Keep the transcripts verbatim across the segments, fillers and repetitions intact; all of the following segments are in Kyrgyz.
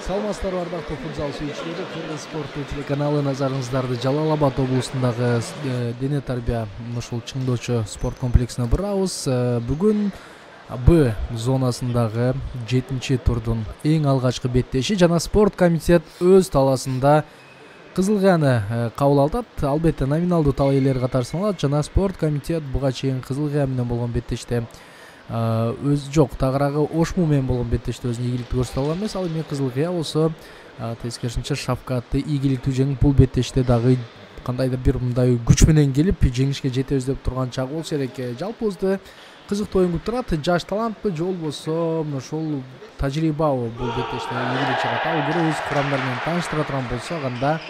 Саламатсыздарбы ардактуу футзал сүйүүчүлөрү. Кыргыз спорттуу телеканалы назарыңыздарды Жалал Абад облусундагы дене тарбия ушул чыңдоочу спорт комплексине бурабыз. Бүгүн Б зонасындагы жетинчи турдун эң алгачкы беттеши жана спорт комитет өз талаасында Кызыл Кыяны кабыл алат. Албетте номиналдуу талаа ээлери катары саналат жана спорт комитет буга чейин Кызыл Кыя менен болгон беттеште өз жок тагыраагы Ошму менен болгон беттеште өзүнүн ийгиликти көрсөтө алган эмес. Ал эми Кызыл Кыя болсо тескерисинче шафкатты ийгиликтүү жеңип бул беттеште дагы кандайдыр бир мындай күч менен келип жеңишке жетебиз деп турган чагы болсо керек. Жалпыбызды кызыктуу оюн күтүп турат. Жаш талантпы же болбосо ошол тажрыйбабы бул беттеште ийгилик чыгат. Ал көрөбүз. Курамдар менен тааныштыра турган болсок, анда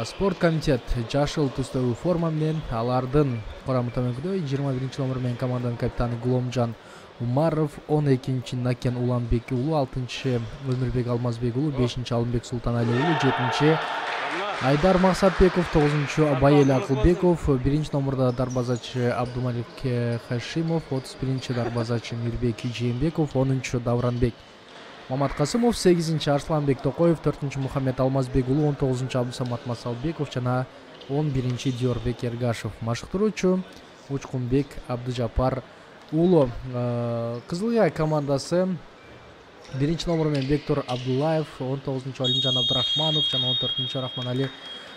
спорт комитет жашыл түстөгү форма менен алардын курамы төмөнкүдөй. жыйырма биринчи номер менен команданын капитаны Гуломжан Умаров, он экинчи Накен Уланбек уулу, алтынчы Өмүрбек Алмазбек уулу, бешинчи Алымбек Султаналиев уулу, жетинчи Айдар Максатбеков, тогузунчу Байел Акылбеков, биринчи номерда дарбазачы Абдумалик Хашимов, отуз биринчи дарбазачы Мирбек Жээнбеков, онунчу Давранбек Маматкасымов, сегизинчи Арсланбек Токоев, төртүнчү Мухаммед Алмазбек уулу, он тогузунчу Абдусамат Масалбеков жана он биринчи Диорбек Эргашев. Машыктыруучу Учкунбек Абдыжапар уулу. Кызыл Кыя командасы биринчи номер менен Бектур Абдуллаев, он тогузунчу Алимжан Абдырахманов жана он төртүнчү Рахманали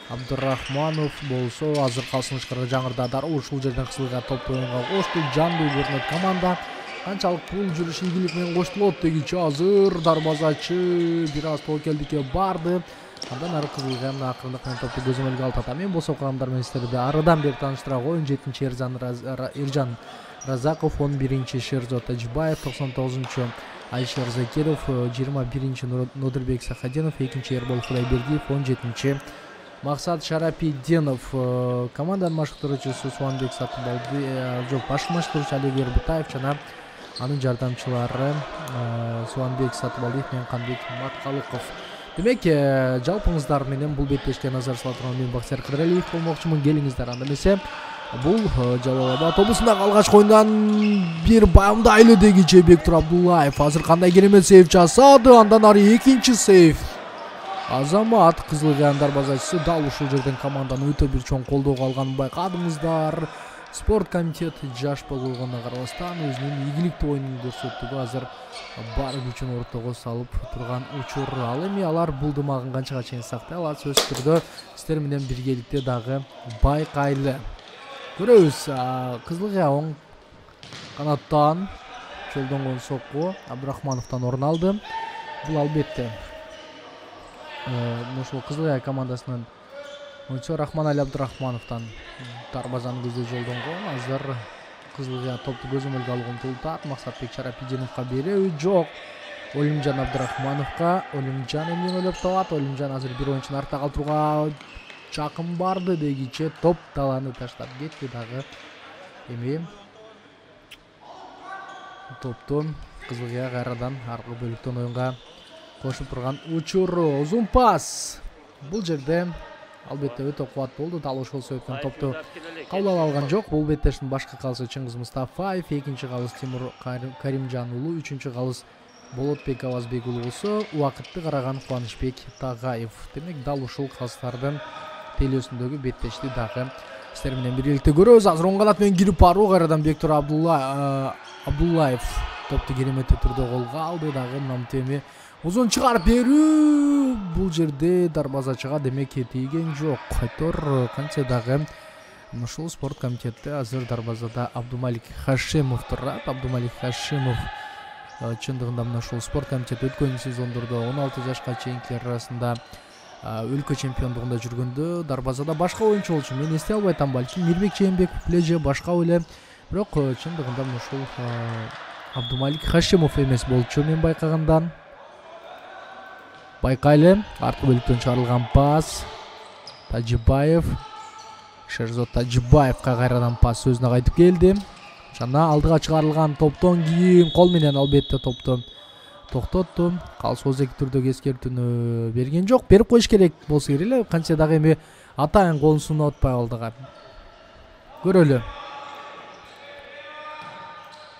Абдырахманов болсо азыр калсыныштарга жаңырдадар. Ушул жерден Кызыл Кыя топ оюнга кошту. Жандуу көрүнөт команда. Канчалык бул жүрүш ийгилик менен коштулот дегичи азыр дарбазачы бир аз тобокелдикке барды. Андан ары Кызыл Кыя акырындык менен топту көзөмөлгө алат. Мен болсо курамдар менен сиздерди арыдан бери тааныштыра коеюн. жетинчи Эржан Разаков, он биринчи Шерзот Тажибаев, токсон тогузунчу Айшер Закиров, жыйырма биринчи Нодырбек Сахаденов, экинчи Эрбол Кудайбердиев, он жетинчи Максат Шарапиденов. Команданын машыктыруучусу Суанбек Сатыбалды, жок, башкы машыктыруучу Олег Эрбитаев жана анын жардамчылары Суанбек Сатыбалдиев менен Канбек Маткалыков. Демек, жалпыңыздар менен бул беттешке назар сала турган мен Баксияр Кыдыралиев болмокчумун. Келиңиздер. Анда эмесе бул Жалал Абад облусундагы алгачкы оюндан бир баамдайлы дегичи Бектур Абдуллаев азыр кандай керемет сейв жасады. Андан ары экинчи сейв. Азамат Кызыл Кыянын дарбазачысы дал ушул жерден команданы өтө бир чоң колдоого алганын байкадыңыздар. Спорт комитет жаш болгонуна карабастан өзүнүн ийгиликтүү оюнун көрсөтүүгө азыр бар күчүн ортого салып турган учур. Ал эми алар бул дымагын канчага чейин сактай алат, сөзсүз түрдө сиздер менен биргеликте дагы байкайлы. Көрөбүз. Кызыл Кыя оң канаттан жолдонгон сокку Абдрахмановдон орун алды. Бул албетте ошол Кызыл Кыя командасынын ойчу Рахманали Абдрахмановдон дарбазаны көздөй жолдонгон. Азыр Кызыл Кыя топту көзөмөлгө алууга умтулат. Максатбек Шарапиденовго береби жок. Олимжан Абдрахмановго. Олимжан эмне ойлоп табат? Олимжан азыр бир оюнчуну артта калтырууга чакын барды дегиче топ талааны таштап кетти дагы. Эми топту Кызыл Кыя кайрадан аркы бөлүктөн оюнга кошуп турган учур. Узун пас. Бул жерде албетте өтө кубаттуу болду. Дал ошол себептен топту кабыл ала алган жок. Бул беттештин башкы калысы Чыңгыз Мустафаев, экинчи калыс Тимур Каримжан уулу, үчүнчү калыс Болотбек Авазбек уулу болсо убакытты караган Кубанычбек Тагаев. Демек дал ушул калыстардын телөөсүндөгү беттешти дагы сиздер менен биргеликте көрөбүз. Азыр оң канат менен кирип баруу кайрадан Бектур Абдуллаев топту кереметтүү түрдө колго алды дагы. Намтеми узун чыгарып берүү. Бул жерде дарбазачыга демек тийген жок. Айтор канча дагы ушул спорт комитетте азыр дарбазада Абдумалик Хашимов турат. Абдумалик Хашимов чындыгында мына ушул спорт комитет өткөн сезондордо он алты жашка чейинкилер арасында өлкө чемпиондугунда жүргөндө дарбазада башка оюнчу болчу. Мен эстей албай атам, балким Мирбек Жээнбеков беле же башка эле. Бирок чындыгында ушул Абдумалик Хашимов эмес болчу мен байкагандан. Байкайлы. Аркы бөлүктөн чыгарылган пас. Тажибаев. Шерзот Тажибаевга кайрадан пас өзүнө кайтып келди. Жана алдыга чыгарылган топтон кийин кол менен албетте топту токтотту. Калыс озеки түрдөгү эскертүүнү берген жок. Берип коюш керек болсо керек эле. Канча дагы эми атайын колун сунуп атпай алдыга. Көрөлү.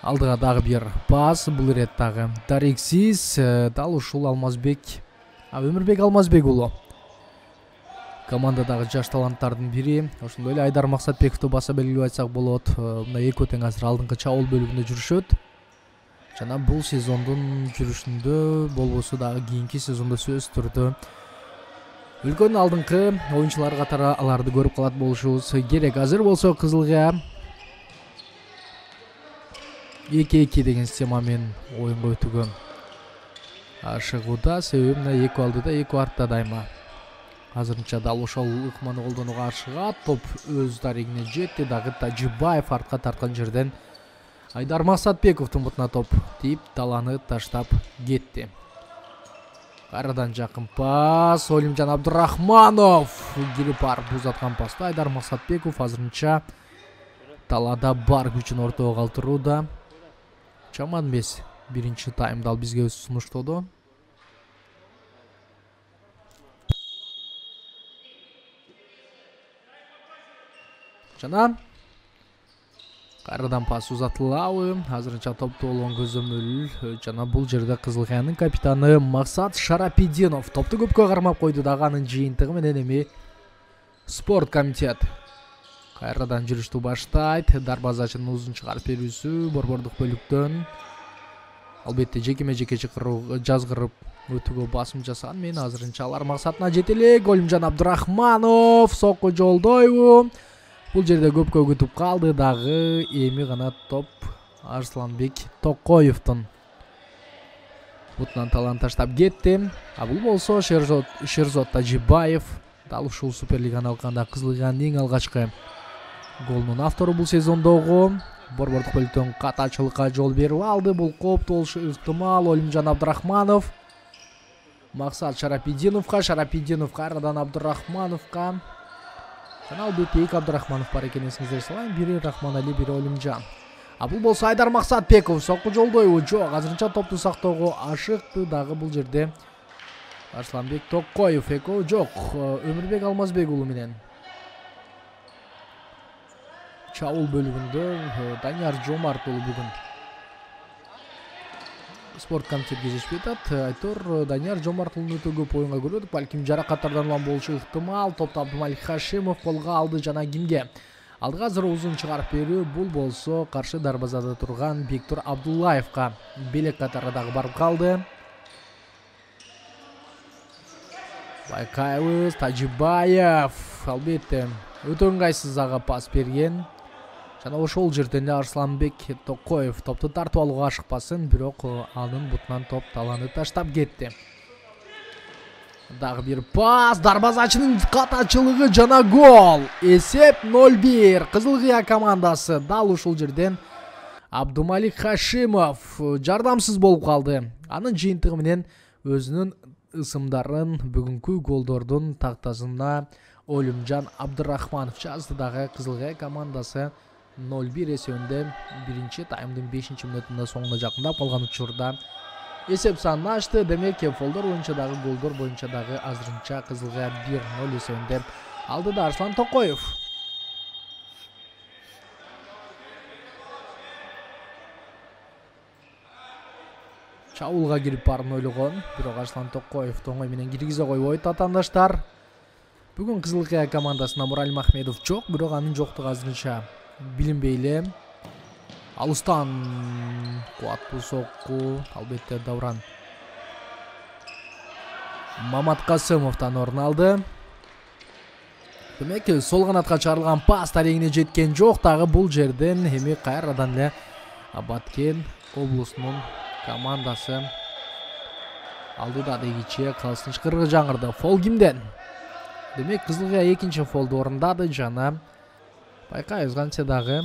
Алдыга дагы бир пас. Бул ирет дагы дарексиз. Дал ушул Алмазбек Өмүрбек Алмазбек уулу командадагы жаш таланттардын бири. Ошондой эле Айдар Максатбековду баса белгилеп айтсак болот. Мына экөө тең азыр алдыңкы чабуул бөлүгүндө жүрүшөт. Жана бул сезондун жүрүшүндө болбосо дагы кийинки сезондо сөзсүз түрдө үлкөн алдыңкы оюнчулар катары аларды көрүп калат болушубуз керек. Азыр болсо Кызылга эки эки деген система менен оюнга өтүүгө ашыгууда. Себеби мына экөө алдыда экөө артта дайыма. Азырынча дал ошол ыкманы колдонууга ашыгат. Топ өз дарегине жетти дагы. Тажибаев артка тарткан жерден Айдар Максатбековдун бутуна топ тийип таланы таштап кетти. Кайрадан жакын пас. Олимжан Абдурахманов кирип барып узаткан пасты Айдар Максатбеков азырынча талаада бар күчүн ортого калтырууда. Жаман эмес биринчи таймда ал бизге сунуштоду. Жана кайрадан пас узатылабы. Азырынча топту болгон көзөмөл жана бул жерде Кызылкаянын капитаны Максат Шарапидинов топту көпкө кармап койду дагы. Анын жыйынтыгы менен эми спорт комитет кайрадан жүрүштү баштайт. Дарбазачынын узун чыгарып берүүсү борбордук бөлүктөн. Албетте жекеме жеке жазгырып өтүүгө басым жасаган менен азырынча алар максатына жете элек. Олимжан Абдурахманов сокко жолдойбу. Бул жерде көпкө күтүп калды дагы. Эми гана топ Арсланбек Токоевдун бутунан талан таштап кетти. А бул болсо Шерзот Шерзот Тажибаев. Дал ушул Суперлиганы алганда Кызылганын эң алгачкы голунун автору бул сезондогу. Борбордук бөлүктөн катачылыкка жол берип алды. Бул кооптуу болушу ыктымал. Олимжан Абдурахманов Максат Шарапидиновго. Шарапидинов кайрадан Абдурахмановго. Жана албетте эки Абдурахманов бар экенин эсиңиздерге салайын. Бири Рахманали, бири Олимжан. А бул болсо Айдар Максатбеков сокку жолдойбу. Жок, азырынча топту сактоого ашыкты дагы бул жерде Арсланбек Токоев. Экөө жок, Өмүрбек Алмазбек уулу менен чабуул бөлүгүндө Данияр Жомарт уулу бүгүн спорт комитетке жетишпей атат. Айтор Данияр Жомарт уулун өтө көп оюнга көрдүк. Балким жаракаттардан улам болушу ыктымал. Топту Абдумалик Хашимов колго алды жана кимге? Алдыга азыр узун чыгарып берүү. Бул болсо каршы дарбазада турган Бектур Абдуллаевга белек катары дагы барып калды. Байкайбыз Тажибаев албетте өтө ыңгайсыз ага пас берген. Жана ошол жерден эле Арсланбек Токоев топту тартып алууга ашыкпасын, бирок анын бутунан топ таланы таштап кетти. Дагы бир пас, дарбазачынын катачылыгы жана гол. Эсеп ноль бир. Кызылкыя командасы дал ушул жерден Абдумалик Хашимов жардамсыз болуп калды. Анын жыйынтыгы менен өзүнүн ысымдарын бүгүнкү голдордун тактасына Олимжан Абдурахманов жазды. Дагы Кызылкыя командасы ноль бир эсебинде биринчи таймдын бешинчи мүнөтүндө соңуна жакындап калган учурда эсеп санын ачты. Демек фолдор боюнча дагы голдор боюнча дагы азырынча Кызылкыя бир ноль эсебинде алдыда Арслан Токоев. Чабуулга кирип барын ойлогон, бирок Арслан Токоев оңой менен киргизе койбойт. Атандаштар, бүгүн Кызылкыя командасына Муралим Ахмедов жок, бирок анын жоктугу азырынча билинбей эле. Алыстан кубаттуу сокку, албетте Давран Маматкасымовдон орун алды. Демек, сол канатка чыгарылган пас дарегине жеткен жок. Дагы бул жерден эми кайрадан эле Баткен облусунун командасы алдыда дегиче калсын чыкыргы жаңырды. Фол кимден? Демек, Кызылкыя экинчи фолду орундады жана байкайбыз кантсе дагы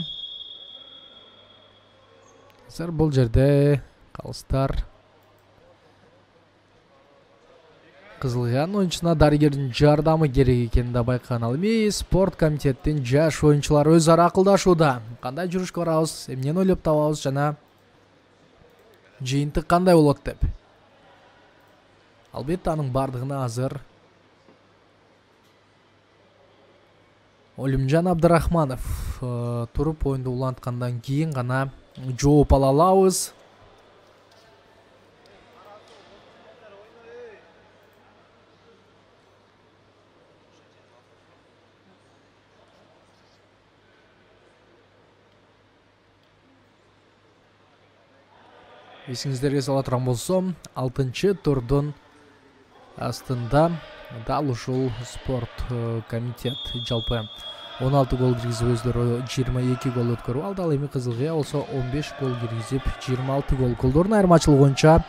азыр бул жерде калыстар Кызылкыянын оюнчусуна дарыгердин жардамы керек экени да байкаган. Ал эми спорт комитеттин жаш оюнчулары өз ара акылдашууда. Кандай жүрүшкө барабыз, эмнени ойлоп табабыз жана жыйынтык кандай болот деп. Албетте анын бардыгына азыр Олимжан Абдурахманов туруп оюнду уланткандан кийин гана жооп ала алабыз. Эсиңиздерге сала турган болсом, алтынчы турдун астында дал ушул спорт комитет жалпы он алты гол киргизип өздөрү жыйырма эки гол өткөрүп алды. Ал эми Кызыл Кыя болсо он беш гол киргизип жыйырма алты гол. Голдордун айырмачылыгы боюнча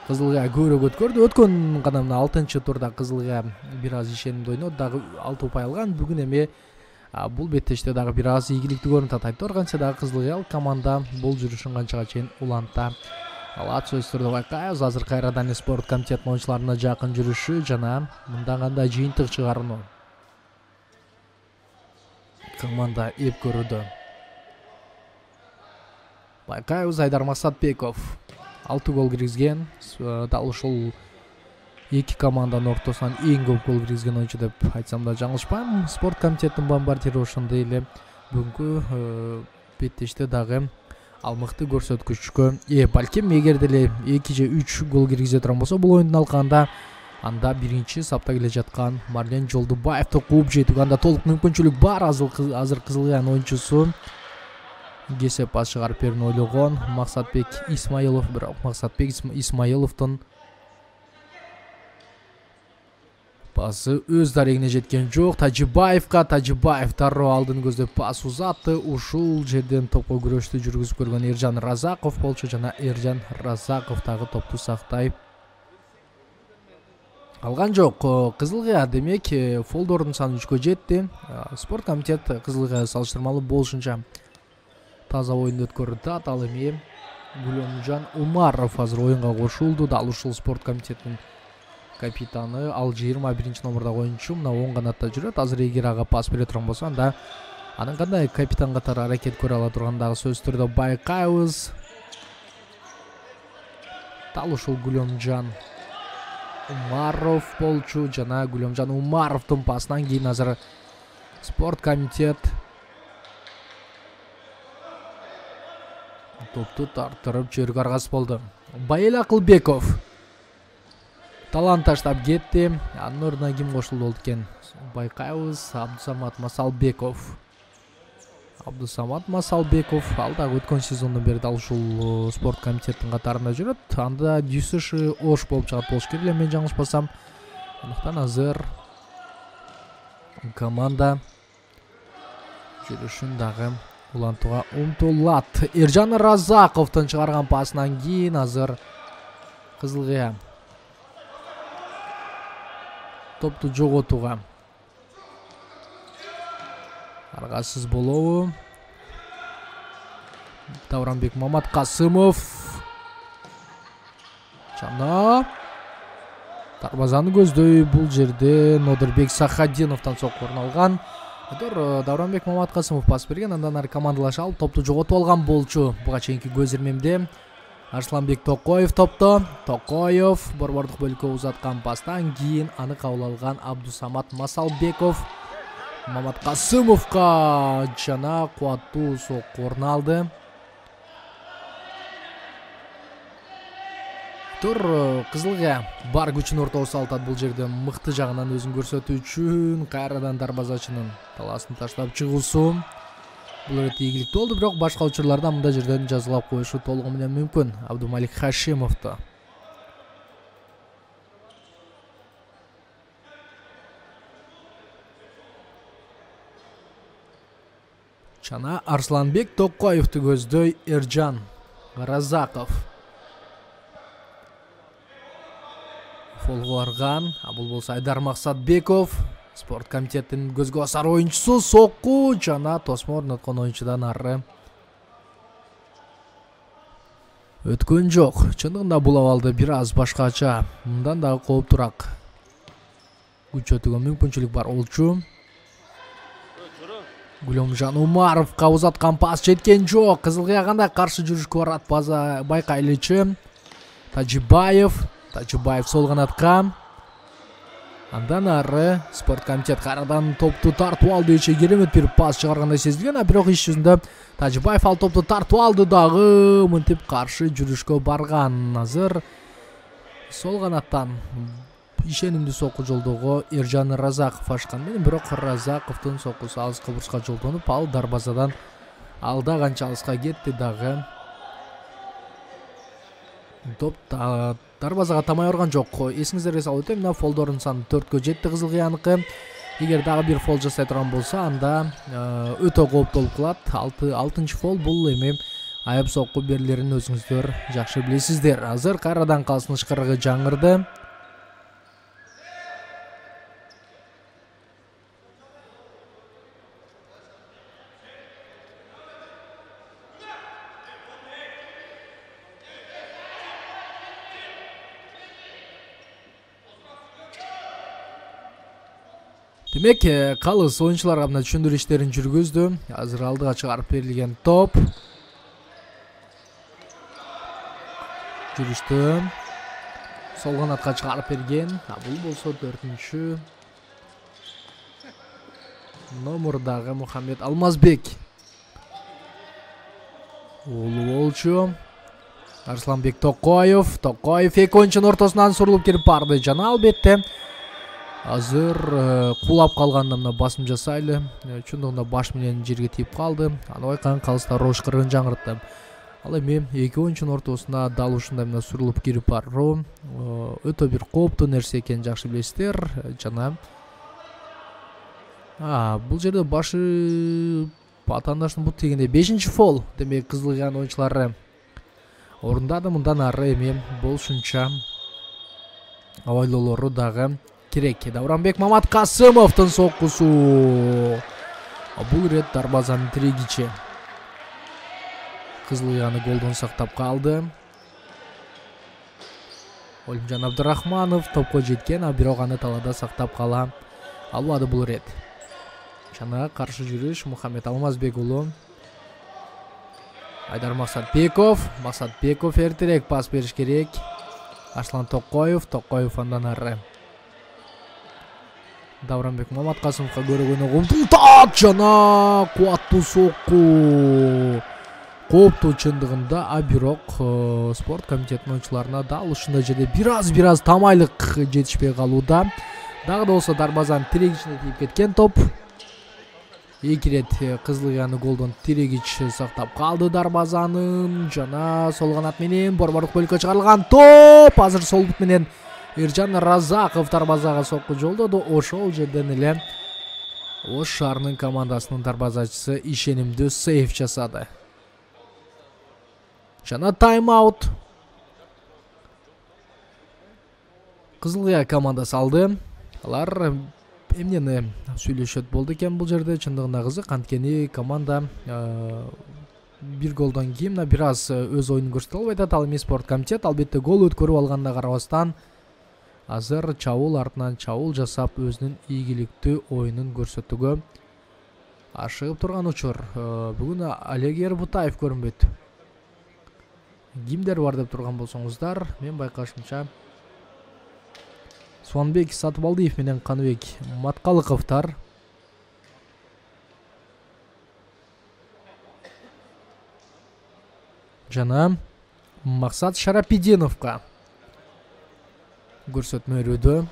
Кызыл Кыя көбүрөөк өткөрдү. Өткөн гана мына алтынчы турда Кызыл Кыя бир аз ишенимдүү ойноду, дагы алты упай алган. Бүгүн эми бул беттеште дагы бир аз ийгиликтүү көрүнүп атат. Айтканча дагы Кызыл Кыя команда бул жүрүшүн канчага чейин уланта алат сөзсүз түрдө байкайбыз. Азыр кайрадан спорт комитетинин оюнчуларына жакын жүрүшү жана мындан кандай жыйынтык чыгарууну команда эп көрүүдө. Байкайбыз, Айдар Максатбеков алты гол киргизген. Дал ушул эки команданын ортосунан эң көп гол киргизген оюнчу деп айтсам да жаңылышпайм. Спорт комитетинин бомбардиры ошондой эле бүгүнкү беттеште дагы ал мыкты көрсөткүчкө ээ. Балким эгер деле эки же үч гол киргизе турган болсо бул оюндун алкагында, анда биринчи сапта келе жаткан Марлен Жолдубаевди кууп жетүүгө анда толук мүмкүнчүлүк бар. Азыр Кызыл Кыянын оюнчусу кесеп пас чыгарып берүүнү ойлогон Максатбек Исмаилов, бирок Максатбек Исмаиловдун пасы өз дарегине жеткен жок. Тажибаевга Тажибаев дароо алдын көздөп пас узатты. Ушул жерден топко күрөштү жүргүзүп көргөн Эржан Разаков болчу жана Эржан Разаков дагы топту сактай алган жок. Кызыл Кыя демек фолдордун саны үчкө жетти. Спорт комитет Кызыл Кыя салыштырмалуу болушунча таза оюнду өткөрүп. Ал эми Гүлөмжан Умаров азыр оюнга кошулду. Дал ушул спорт комитетинин капитаны, ал жыйырма биринчи номурдагы оюнчу, мына оң канатта жүрөт. Азыр эгер ага пас бере турган болсо, анда анын кандай капитан катары аракет көрө ала тургандагы сөзсүз түрдө байкайбыз. Дал ушул Гүлөмжан Умаров болчу жана Гүлөмжан Умаровдун пасынан кийин азыр спорт комитет топту тартырып жибергө аргасыз болду. Байел Акылбеков талант таштап кетти. Анын ордуна ким кошулду болду экен? Байкайбыз, Абдусамат Масалбеков. Абдусамат Масалбеков ал дагы өткөн сезондон бери дал ушул спорт комитетинин катарында жүрөт. Анда Дюсыши Ош болуп чыгат болуш керек эле, мен жаңылышпасам. Андыктан азыр команда жүрүшүн дагы улантууга умтулат. Эржан Разаковдун чыгарган пасынан кийин азыр Кызыл Кыя топту жоготууга аргасыз болобу? Давранбек Маматкасымов жана дарбазаны көздөй бул жерде Нодырбек Сахадиновдон сокку орун алган. Давранбек Маматкасымов пас берген, андан ары командалаша алып топту жоготуп алган болчу. Буга чейинки көз ирмемде Арсланбек Токоев топто. Токоев борбордук бөлүккө узаткан пастан кийин аны кабыл алган Абдусамат Масалбеков Маматкасымовго жана кубаттуу сокку орун алды. Тур Кызыл Кыя бар күчүн ортого салтат бул жерде мыкты жагынан өзүн көрсөтүү үчүн. Кайрадан дарбазачынын таласын таштап чыгуусу бул өтө ийгиликтүү болду, бирок башка учурларда мындай жерден жазылап коюшу толугу менен мүмкүн. Абдумалик Хашимовду жана Арсланбек Токоевду көздөй Эржан Разаков фолго барган. А бул болсо Айдар Максатбеков, спорт комитетинин көзгө басар оюнчусу. Сокку жана тосмо орноткон оюнчудан ары өткөн жок. Чындыгында бул абалды бир аз башкача, мындан дагы кооптураак күчөтүүгө мүмкүнчүлүк бар болчу. Гүлөмжан Умаровго узаткан пас жеткен жок. Кызыл Кыя кандай каршы жүрүшкө барат база байкайлычы. Тажибаев Тажибаев сол канатка. Андан ары спорт комитет кайрадан топту тартып алды. Иче керемет бир пас чыгаргандай сезилген, а бирок иш жүзүндө Тажибаев ал топту тартып алды дагы мынтип каршы жүрүшкө барган. Азыр сол канаттан ишенимдүү сокку жолдоого Эржан Разаков ашкан менен, бирок Разаковдун соккусу алыска бурчка жолдонуп, ал дарбазадан алда канча алыска кетти дагы Топ дарбазага тамай барган жок. Эсиңиздерге салып өтөм, мына фолдордун саны төрткө жетти Кызыл Кыяныкы. Эгер дагы бир фол жасай турган болсо, анда өтө кооптуу болуп калат. алтынчы фол бул эми аяп сокку берилерин өзүңүздөр жакшы билесиздер. Азыр кайрадан калсын ышкырыгы жаңырды. Демек, калыс оюнчуларга мына түшүндүрүү иштерин жүргүздү. Азыр алдыга чыгарып берилген топ. Жүрүштү. Сол канатка чыгарып берген. Бул болсо төртүнчү номурдагы Мухаммед Алмазбек. Улуу болчу. Арсланбек Токоев. Токоев эки оюнчунун ортосунан сурулуп кирип барды. Жана албетте азыр кулап калганда мына басым жасайлы. Чындыгында баш менен жерге тийип калды. Аны байкаган калыстар ошкырын жаңыртты. Ал эми эки оюнчунун ортосуна дал ушундай мына сурулуп кирип баруу өтө бир кооптуу нерсе экенин жакшы билесиздер. Жана бул жерде башы атаандаштын бут тегенде бешинчи фол. Демек, Кызыл Кыян оюнчулары орундады. Мындан ары эми болушунча абайлоолору дагы керек. Давранбек Маматкасымовдун соккусу. Бул ирет дарбазанын тирегичи. Кызыл Кыяны голдон сактап калды. Олимжан Абдырахманов топко жеткен, а бирок аны талаада сактап кала албады бул ирет. Жана каршы жүрүш Мухаммед Алмазбек уулу. Айдар Максатбеков. Максатбеков эртерээк пас бериш керек. Арслан Токоев. Токоев андан ары Давранбек Маматкасымовго көрөгөнү умтултат. Жана кубаттуу сокку. Кооптуу чындыгында, а бирок спорт комитетинин оюнчуларына дал ушундай жерде бир аз бир аз тамайлык жетишпей калууда. Дагы да болсо дарбазанын тирегичине тийип кеткен топ. Эки ирет Кызыл Кыяны голдон тирегич сактап калды дарбазанын. Жана сол канат менен борбордук бөлүккө чыгарылган топ. Азыр сол бут менен Эржан Разаков дарбазага сокку жолдоду. Ошол жерден эле Ош шаарынын командасынын дарбазачысы ишенимдүү сейф жасады. Жана тайм-аут. Кызыл Кыян командасы алды. Алар эмнени сүйлөшөт болду экен бул жерде? Чындыгында кызык, анткени команда бир голдон кийин бир аз өз оюнун көрсөтө албай атат. Ал эми спорт комитет албетте гол өткөрүп алганына карабастан азыр чабуул артынан чабуул жасап өзүнүн ийгиликтүү оюнун көрсөтүүгө ашыгып турган учур. Бүгүн Олег Ербутаев көрүнбөйт. Кимдер бар деп турган болсоңуздар, мен байкашымча Суанбек Сатыбалдиев менен Каныбек Маткалыковтар. Жана Максат Шарапидиновго көрсөтмө берүүдө.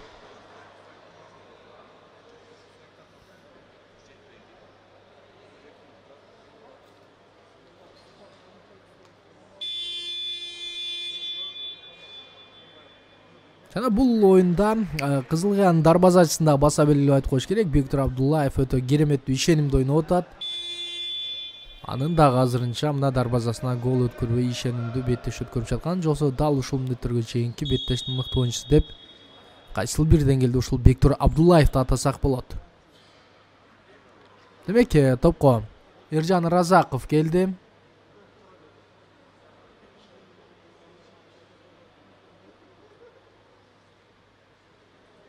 Жана бул оюнда Кызыл Кыян дарбазачысында баса белгилеп айтып коюш керек. Бектур Абдуллаев өтө кереметтүү ишенимдүү ойноп атат. Анын дагы азырынча мына дарбазасына гол өткөрбөй ишенимдүү беттеш өткөрүп жаткан. Жоксо дал ушул мындеттөргө чейинки беттештин мыкты оюнчусу деп кайсыл бир деңгээлде ушул Бектур Абдуллаевди атасак болот. Демек, топко Эржан Разаков келди.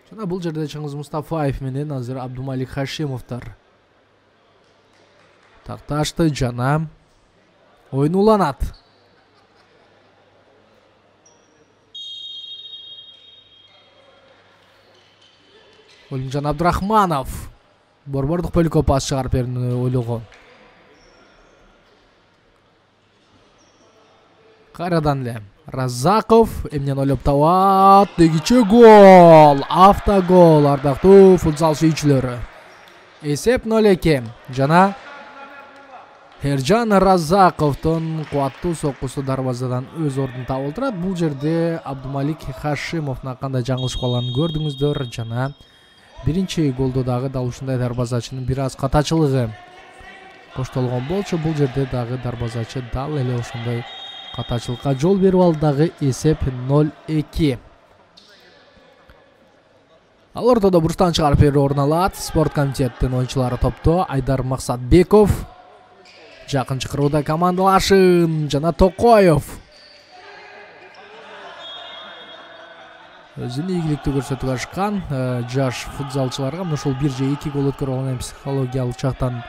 Жана бул жерде Чыңгыз Мустафаев менен азыр Абдумалик Хашимовдор такташты. Жана оюн уланат. Олимжан Абдырахманов борбордук бөлүккө пас чыгарып берүүнү ойлогон. Кайрадан эле Разаков эмнени ойлоп табат? Дегиче гол! Автогол, ардактуу футзал сүйүүчүлөрү. Эсеп нөл эки. Жана Эржан Разаковдун кубаттуу соккусу дарбазадан өз ордун таап отурат. Бул жерде Абдумалик Хашимовдун кандай жаңылышып калганын көрдүңүздөр жана биринчи голдо дагы дал ушундай дарбазачынын бир аз катачылыгы коштолгон болчу. Бул жерде дагы дарбазачы дал эле ошондой катачылыкка жол берип алды, дагы эсеп ноль эки. Ал ортодо бурчтан чыгарып берүү орун алат. Спорт комитеттин оюнчулары топто. Айдар Максатбеков жакын чакырууда командалашын жана Токоев өзүнүн ийгиликтүү көрсөтүп ашкан жаш футзалчыларга мына ушул бир же эки гол өткөрүп алган психологиялык жактан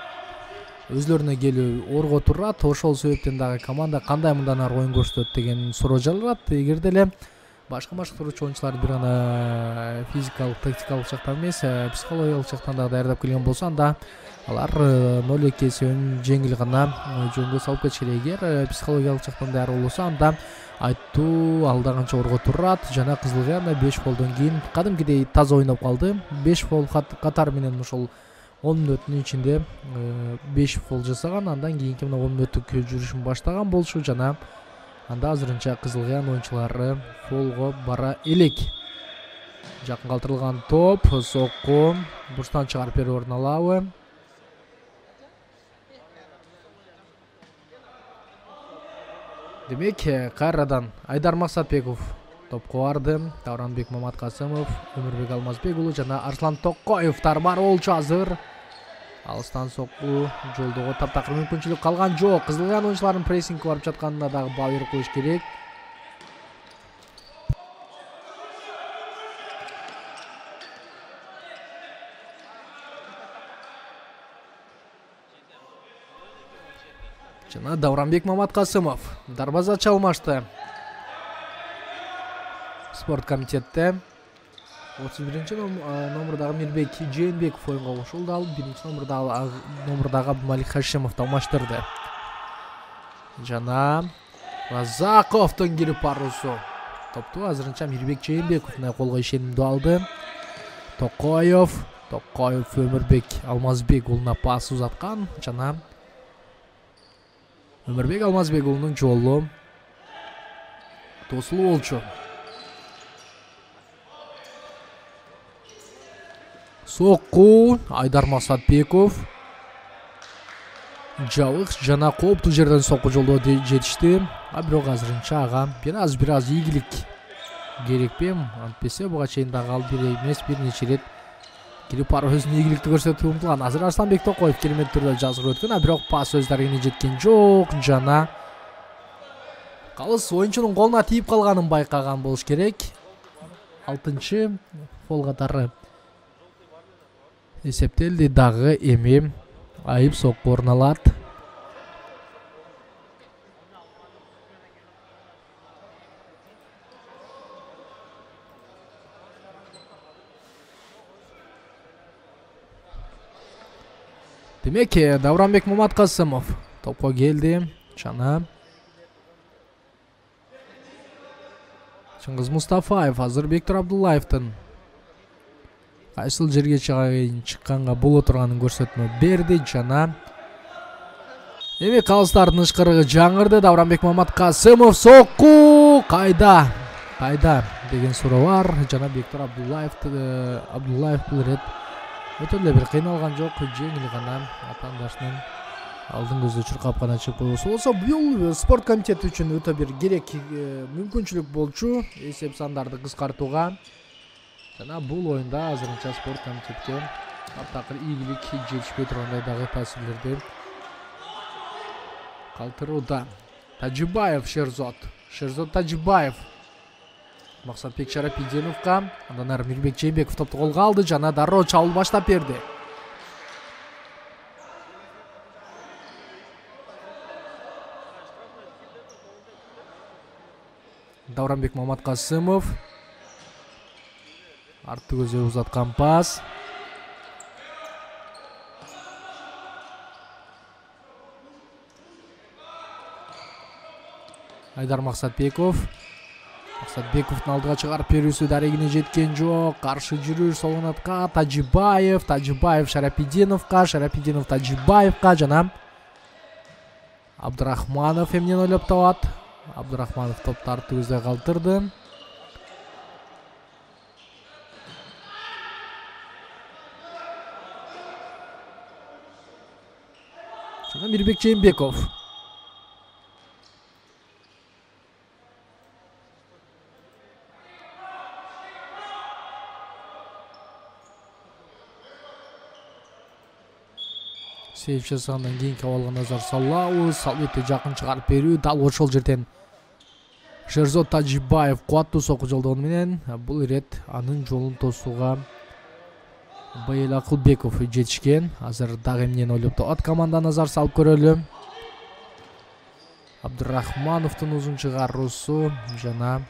өзлөрүнө келүү орго турат. Ошол себептен дагы команда кандай мындан ары оюн көрсөтөт деген суроо жаралат. Эгерде эле башка башкаруучу оюнчулар бир гана физикалык, тактикалык жактан эмес, психологиялык жактан дагы даярдап келген болсо, анда алар ноль эки эсебин жеңил гана жөнгө салып кетишет. Эгер психологиялык жактан даяр болбосо, анда айттуу алда канча орго турат. Жана Кызылгана беш фолдон кийин кадимкидей таза ойноп калды. беш фол катары менен ошол он мүнөттүн ичинде беш фол жасаган. Андан кийинки мына он мүнөттүк жүрүшүн баштаган болчу жана анда азырынча Кызылган оюнчулары фолго бара элек. Жакын калтырылган топ, сокку, бурчтан чыгарып берүү орун алабы. Демек, кайрадан Айдар Максатбеков топко барды. Давранбек Маматкасымов, Өмүрбек Алмазбек уулу жана Арслан Токоевдор бар болчу азыр. Алыстан сокку, жолдого таптакыр мүмкүнчүлүк калган жок. Кызылган оюнчуларынын прессингге барып жатканына дагы баа берип коюш керек. Жана Давранбек Маматкасымов дарбазачы алмашты. Спорт комитетте отуз биринчи номурдагы Мирбек Жээнбеков оюнга кошулду. Ал биринчи номурдагы номурдагы Абдумалик Хашимовду алмаштырды. Жана Разаковдун кирип баруусу топту азырынча Мирбек Жээнбеков колго ишенимдүү алды. Токоев, Токоев Өмүрбек Алмазбек уулуна пас узаткан жана Өмүрбек Алмазбек уулунун жолу тосулуу болчу. Сокку Айдар Максатбеков жабык жана кооптуу жерден сокку жолдо жетишти. А бирок азырынча ага бир аз бир аз ийгилик керекпи? Антпесе буга чейин дагы ал бир эмес бир нече ирет кирип барып өзүнүн ийгиликти көрсөтүп умтулган. Азыр Арсланбек Токоев керемет түрдө жазгыр өткөн, а бирок пас өз дарегине жеткен жок жана калыс оюнчунун колуна тийип калганын байкаган болуш керек. алтынчы фол катары эсептелди. Дагы эми айып сокку орун алат. Демек, Давранбек Маматкасымов топко келди жана Чыңгыз Мустафаев азыр Бектур Абдуллаевдин кайсыл жерге чыкканга боло турганын көрсөтмө берди жана эми калыстардын ышкырыгы жаңырды. Давранбек Маматкасымов сокку кайда кайда деген суроо бар жана Бектур Абдуллаев Абдуллаев бул рет өтө эле бир кыйналган жок, жеңил гана атаандашынын алдын көзү чуркап гана чыгып койбосо болсо, бул спорт комитети үчүн өтө бир керек мүмкүнчүлүк болчу эсеп сандарды кыскартууга. Жана бул оюнда азырынча спорт комитетке таптакыр ийгилик жетишпей тургандай дагы таасирлерди калтырууда. Тажибаев Шерзот, Шерзот Тажибаев Максатбек Шарапиденовго, андан ары Мирбек Жээнбеков топту колго алды жана дароо чабуул баштап берди. Давранбек Маматкасымов арты көзү узаткан пас. Айдар Максатбеков Максатбековдун алдыга чыгарып берүүсү дарегине жеткен жок. Каршы жүрүш сол канатка Тажибаев, Тажибаев Шарапиденовго, Шарапиденов Тажибаевго жана Абдырахманов эмнени ойлоп табат? Абдырахманов топтарды көздөй калтырды. Жана Мирбек Жээнбеков. Сейф жасагандан кийин кабалга назар салабыз. Албетте жакын чыгарып берүү. Дал ошол жерден Шерзод Тажибаев кубаттуу сокку жолдогону менен бул ирет анын жолун тосууга Байел Акылбеков жетишкен. Азыр дагы эмнени ойлоп табат команда, назар салып көрөлү. Абдырахмановдун узун чыгаруусу жана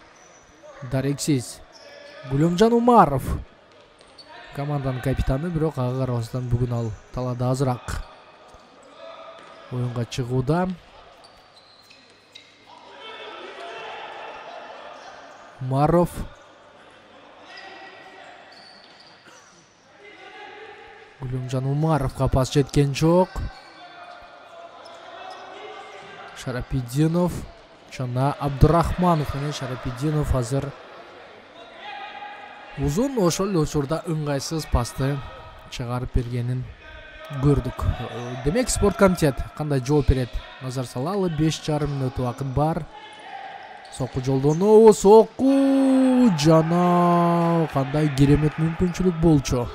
дарексиз Гүлөмжан Умаров команданын капитаны, бирок ага карабастан бүгүн ал талаада азыраак оюнга чыгууда. Умаров Гүлөмжан Умаровго пас жеткен жок. Шарапидинов жана Абдырахманов менен Шарапидинов азыр узун ошол эле учурда ыңгайсыз пасты чыгарып бергенин көрдүк. Демек спорт комитет кандай жооп берет? Назар салалы. беш жарым мүнөт убакыт бар. Сокку жолдонуу, сокку жана кандай керемет мүмкүнчүлүк болчу.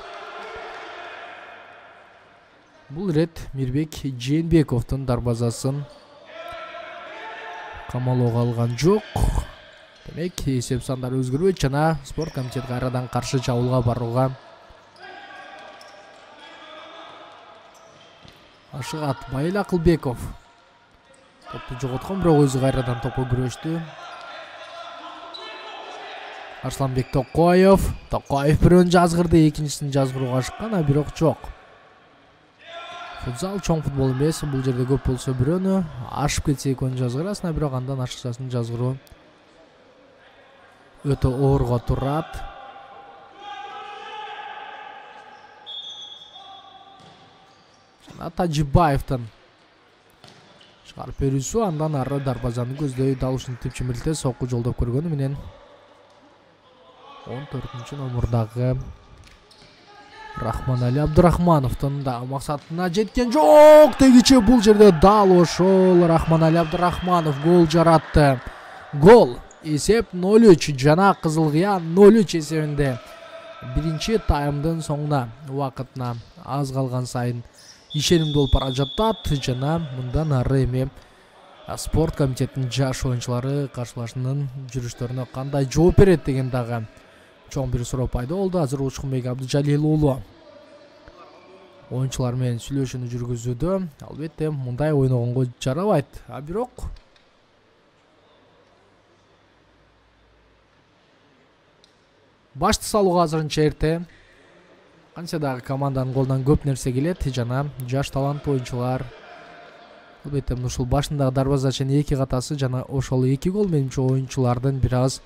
Бул ирет Мирбек Жээнбековдун дарбазасын камалоого алган жок. Демек эсеп сандары өзгөрбөйт жана спорт комитет кайрадан каршы чабуулга барууга ашыгат. Байел Акылбеков топту жоготкон, бирок өзү кайрадан топко күрөштү. Арсланбек Токоев. Токоев бирөөнү жазгырды, экинчисин жазгырууга ашыккан, а бирок жок. Футзал чоң футбол эмес, бул жерде көп болсо бирөөнү ашып кетсе экөөнү жазгырасың, а бирок андан ашыкчасын жазгыруу өтө оорго турат. Жана Тажибаевдин чыгарып берүүсү, андан ары дарбазаны көздөй дал ушинтип чимилте сокку жолдоп көргөнү менен он төртүнчү номурдагы Рахманали Абдырахмановдун да максатына жеткен жок. Тегиче бул жерде дал ошол Рахманали Абдырахманов гол жаратты. Гол. Эсеп ноль үч жана Кызыл Кыян ноль үч эсебинде биринчи таймдын соңуна убакытына аз калган сайын ишенимдүү болуп бара жатат жана мындан ары эми спорт комитетинин жаш оюнчулары каршылашынын жүрүштөрүнө кандай жооп берет деген дагы чоң бир суроо пайда болду. Азыр Учкунбек Абдыжалил уулу оюнчулар менен сүйлөшүүнү жүргүзүүдө. Албетте мындай ойногонго жарабайт, а бирок башты салууга азырынча эрте. Кантсе дагы команданын колунан көп нерсе келет жана жаш таланттуу оюнчулар. Албетте ушул башындагы дарбазачынын эки катасы жана ошол эки гол менимче оюнчулардын бир аз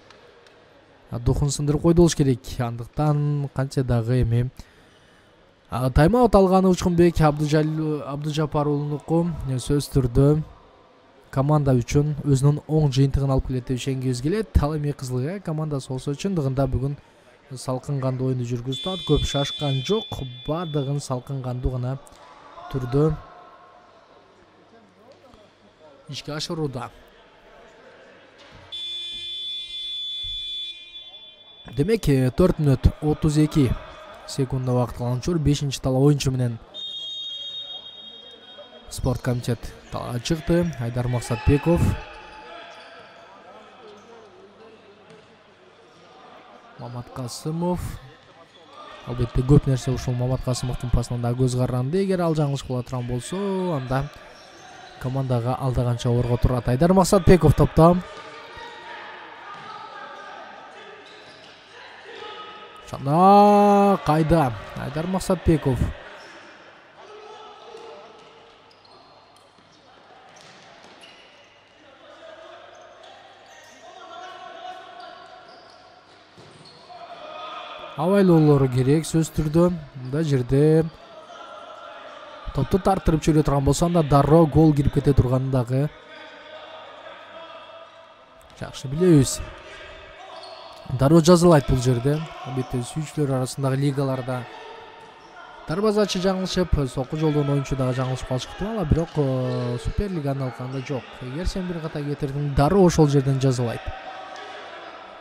духун сындырып койду болуш керек. Андыктан кантсе дагы эми тайм-аут алганы Учкунбек Абдыжапар уулунуку сөзсүз түрдө команда үчүн өзүнүн оң жыйынтыгын алып келет деп ишенгибиз келет. Ал эми Кызыл Кыя командасы болсо чындыгында бүгүн салкын кандуу оюнду жүргүздү атат. Көп шашкан жок, бардыгын салкын кандуу гана түрдө ишке ашырууда. Демек төрт мүнөт отуз эки секундда убакыт калган учур бешинчи талаа оюнчу менен спорт комитет талаага чыкты. Айдар Максатбеков, Мамат Касымов. Албетте көп нерсе ушул Мамат Касымовдун пасынан да көз каранды. Эгер ал жаңылыш кыла турган болсо, анда командага алдаганча орго турат. Айдар Максатбеков топто. Жана кайда Айдар Максатбеков. Абайлоолору керек сөзсүз түрдө. Мында жерде топту тартырып жибере турган болсо анда дароо гол кирип кете турганын дагы жакшы билебиз. Дароо жазылайт бул жерде. Албетте сүйүүчүлөр арасындагы лигаларда дарбазачы жаңылышып, сокку жолдон оюнчу дагы жаңылышып калышы ыктымал, бирок Суперлиганы алганда жок. Эгер сен бир ката кетирдиң, дароо ошол жерден жазылайт.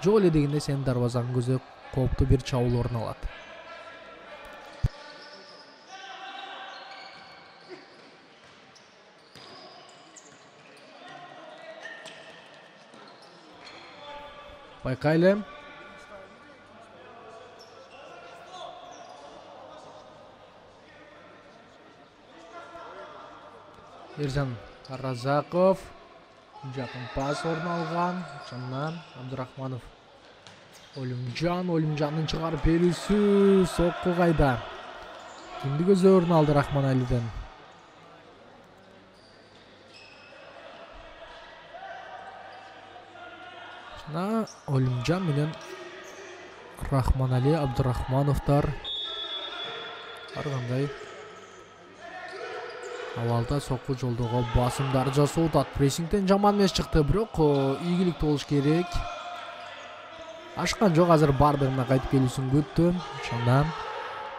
Жок эле дегенде сенин дарбазаңдын көзү кооптуу бир чабуул орун алат. Байкайлы. Эржан Разаков жакын пас орун алган. Жаннан Абдурахманов. Олимжан, Олимжандын чыгарып берүүсү сокку кайда. Кимди көздөй орун алды Рахманалиден. Жана Олимжан менен Рахманали Абдурахмановдор ар кандай Авалда сокку жолдого басымдар жасоо атат. Прессингден жаман эмес чыкты, бирок ийгиликтүү болуш керек. Ашкан жок, азыр бардыгына кайтып келүүсүн күттү. Ошондон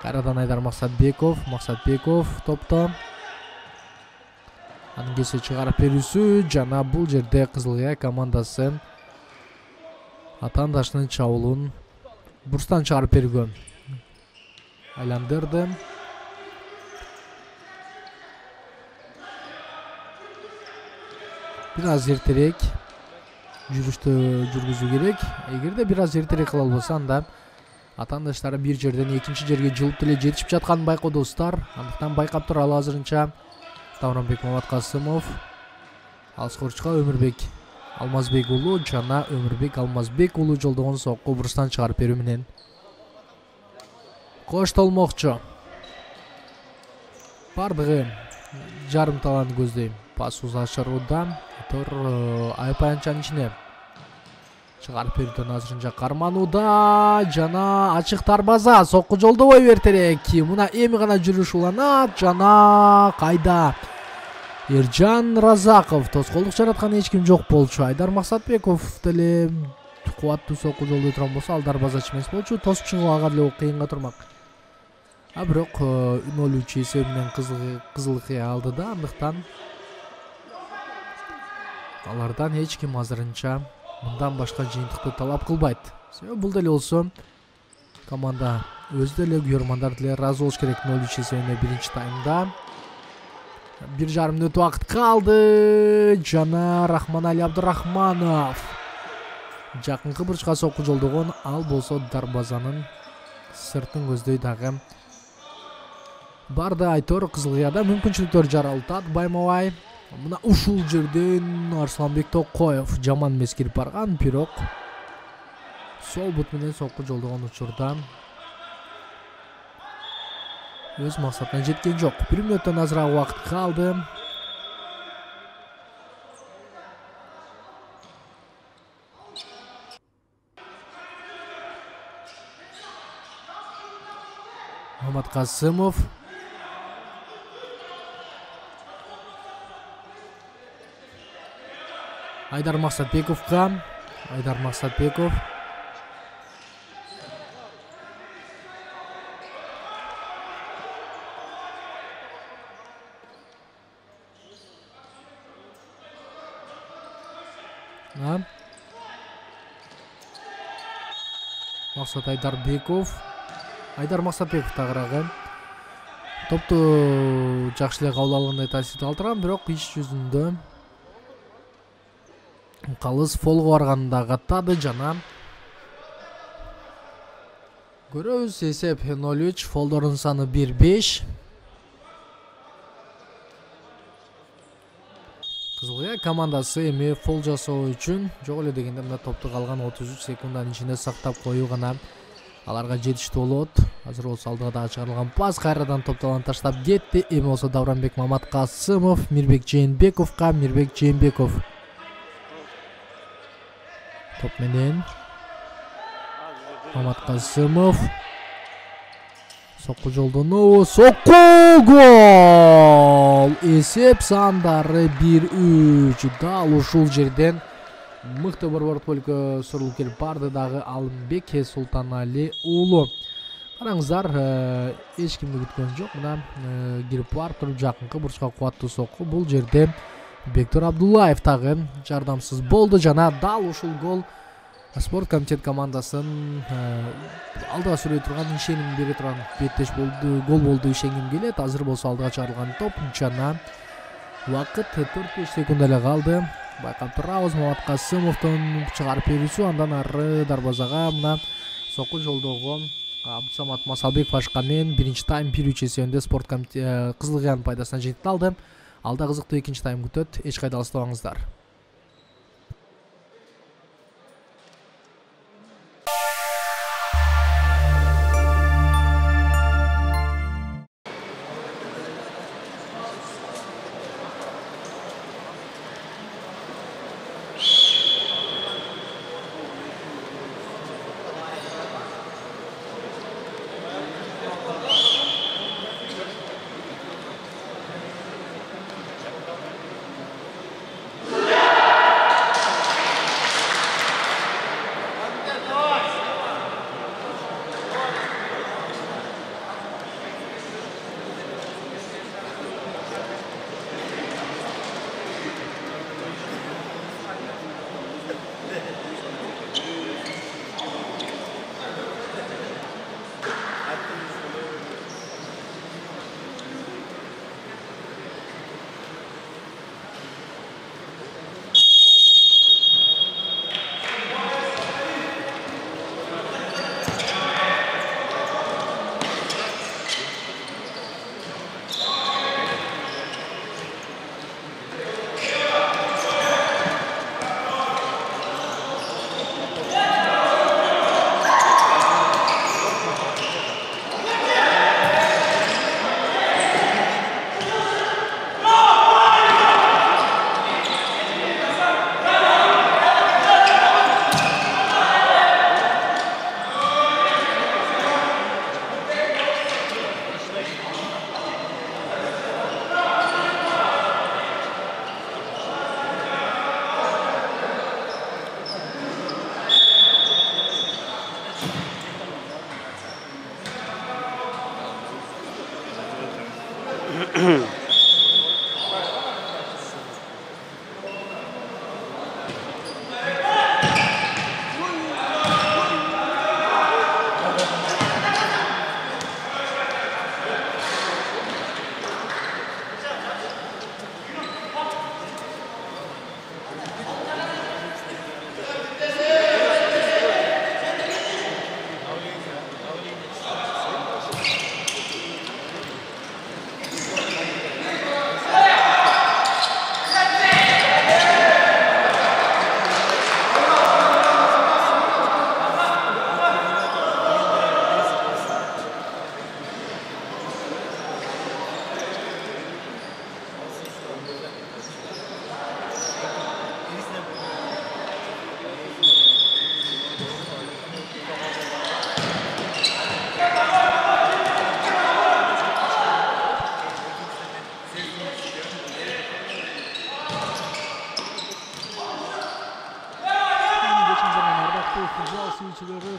кайрадан Айдар Максатбеков, Максатбеков топто. Анын кесе чыгарып берүүсү жана бул жерде Кызыл Кыя командасы атаандашынын чабуулун бурстан чыгарып бергөн. Айландырды. Бир аз эртерээк жүрүштү жүргүзүү керек. Эгерде бир аз эртерээк кыла албаса, анда атаандаштары бир жерден экинчи жерге жылып деле жетишип жатканын байкоодусуздар. Андыктан байкап туралы азырынча Давранбек Маматкасымов, алыс корчка Өмүрбек Алмазбек уулу жана Өмүрбек Алмазбек уулу жолдогон сокку бурустан чыгарып берүү менен коштолмокчу. Бардыгы жарым талант көздөйм. Пас узашырууда Тор Айпаянчанын ичине чыгарып берүүдөн азырынча карманууда жана ачык дарбаза сокку жолдобой бертерек. Мына эми гана жүрүш уланат жана кайда Эржан Разаков тоскоолдук жараткан эч ким жок болчу. Айдар Максатбеков деле кубаттуу сокку жолдой турган болсо, ал дарбазачы эмес болчу, тосуп чыгуу ага деле кыйынга турмак. А бирок ноль үч эсеби менен Кызыл Кыя алды да, андыктан алардан эч ким азырынча мындан башка жыйынтыкты талап кылбайт. Себеби бул деле болсо команда өзү деле күйөрмандар деле ыраазы болуш керек. ноль үч эсебине биринчи таймда бир жарым мүнөт убакыт калды жана Рахманали Абдурахманов жакынкы бурчка сокку жолдогон, ал болсо дарбазанын сыртын көздөй дагы барды. Айтор Кызыл Кыяда мүмкүнчүлүктөр жаралтат байма-бай. Мына ушул жерден Арсланбек Токоев жаман эмес кирип барган, бирок сол бут менен сокку жолдогон учурда өз максатына жеткен жок. бир мүнөттөн азыраак убакыт калды. Маматкасымов Айдар Максатбековго. Айдар Максатбеков Максат Айдарбеков. Айдар Максатбеков тагыраагы топту жакшы эле кабыл алгандай таасир калтырган, бирок иш жүзүндө калыс фолго барганда каттады жана көрөбүз. Эсеп ноль үч, фолдордун саны бир беш. Кызыл Кыя командасы эми фол жасоо үчүн жок эле дегенде мына топту калган отуз үч секундтун ичинде сактап коюу гана аларга жетиштүү болот. Азыр болсо алдыга дагы чыгарылган пас кайрадан топтон таштап кетти. Эми болсо Давранбек Маматкасымов Мирбек Жээнбековго. Мирбек Жээнбеков топ менен Маматкасымов сокку жолдонуу, сокку, гол! эсеп сандары бир үч. Дал ушул жерден мыкты борбор полкө сурулуп келип барды дагы Алымбек Султанали уулу. Караңыздар, эч кимди күткөн жок. Мына кирип барып туруп жакынкы бурчка кубаттуу сокку. Бул жерде Бектур Абдуллаев дагы жардамсыз болду жана дал ушул гол спорт комитет командасын алдыга сүрөй турган, ишеним бере турган беттеш болду, гол болду ишенгим келет. Азыр болсо алдыга чыгарылган топ жана убакыт төрт беш секунд эле калды. Байкап турабыз Мамат Касымовдун чыгарып берүүсү, андан ары дарбазага мына сокку жолдогу Абдусамат Масалбеков ашкан менен биринчи тайм бир үч эсебинде спорт комитет Кызыл Кыян пайдасына жетип алды. Алда кызыктуу экинчи тайм күтөт. Эч кайда алыстабаңыздар.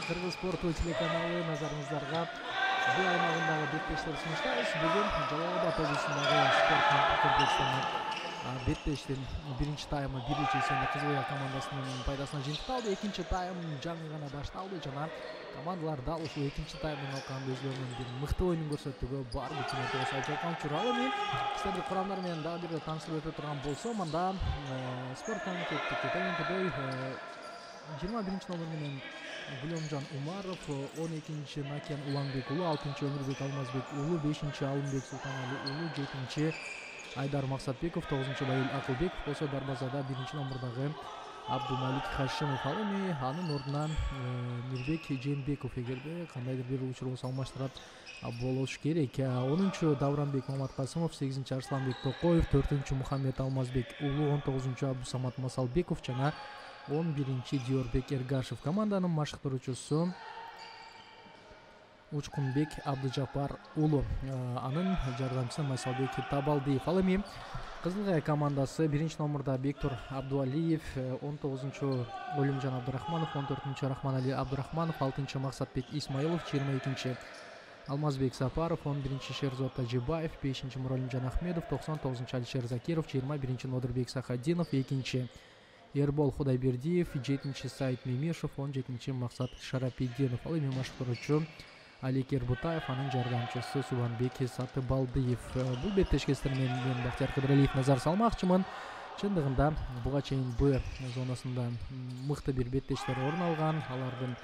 Кыргыз спорту телеканалы назарыңыздарга бул аймагындагы беттештер сунуштайбыз. Бүгүн Жалал Абад облусундагы спорт комплекстин беттештин биринчи таймы бир үч эсебинде Кызыл Кыян командасынын пайдасына жетип алды. Экинчи тайм жаңы гана башталды жана командалар дал ушул экинчи таймдын алкагында өзлөрүнүн бир мыкты oyunун көрсөтүүгө бар күчүн ортого салып жаткан учуралы мен сиздерди курамдар менен дагы бир тааныштырып өтө турган болсом, анда спорт комитеттики тегинкидей жыйырма биринчи номер менен Гүлөмжан Умаров, он экинчи Накиян Уланбек уулу, алтынчы Өмүрбек Алмазбек уулу, бешинчи Алымбек Султанали уулу, жетинчи Айдар Максатбеков, тогузунчу Байыл Акылбеков болсо, дарбазада биринчи номердагы Абдумалик Хашимов ал эми анын ордуна Мирбек Жээнбеков эгерде кандайдыр бир учур болсо алмаштырат болуш керек. онунчу Давранбек Маматкасымов, сегизинчи Арсланбек Токоев, төртүнчү Мухаммед Алмазбек уулу, он тогузунчу Абдусамат Масалбеков жана он биринчи Диорбек Эргашев. Команданын машыктыруучусу Учкунбек Абдыжапар уулу, анын жардамчысы Майсалбек Табалдиев. Ал эми Кызылгай командасы биринчи номурда Бектур Абдуалиев, он тогузунчу Олимжан Абдырахманов, он төртүнчү Рахманали Абдырахманов, алтынчы Максатбек Исмаилов, жыйырма экинчи Алмазбек Сапаров, он биринчи Шерзот Тажибаев, бешинчи Муралимжан Ахмедов, токсон тогузунчу Алишер Закиров, жыйырма биринчи Нодырбек Сахаддинов, экинчи Эрбол Худайбердиев, жетинчи Саид Мемишев, он жетинчи Максат Шарапиддинов. Ал эми машыктыруучу Алик Эрбутаев, анын жардамчысы Субанбек Сатыбалдиев. Бул беттешкестер менен мен Бактияр Кыдыралиев назар салмакчымын. Чындыгында буга чейин Б зонасында мыкты бир беттештер орун алган. Алардын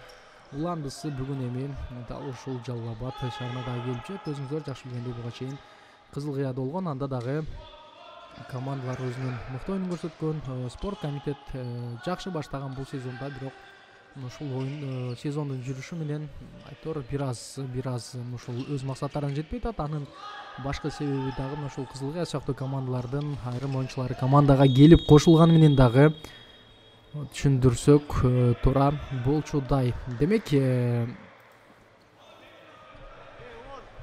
уландысы бүгүн эми дал ушул Жалал Абад шаарына да келип жатат. Өзүңүздөр жакшы билгендей буга чейин Кызыл Кыяда болгон, анда дагы командалар өзүнүн мыкты оюнун көрсөткөн. Спорт комитет жакшы баштаган бул сезонда, бирок ушул оюн сезондун жүрүшү менен айтор бир аз бир аз ушул өз максаттарына жетпей атат. Анын башкы себеби дагы ушул Кызыл Кыя сыяктуу командалардын айрым оюнчулары командага келип кошулганы менен дагы түшүндүрсөк туура болчудай. Демек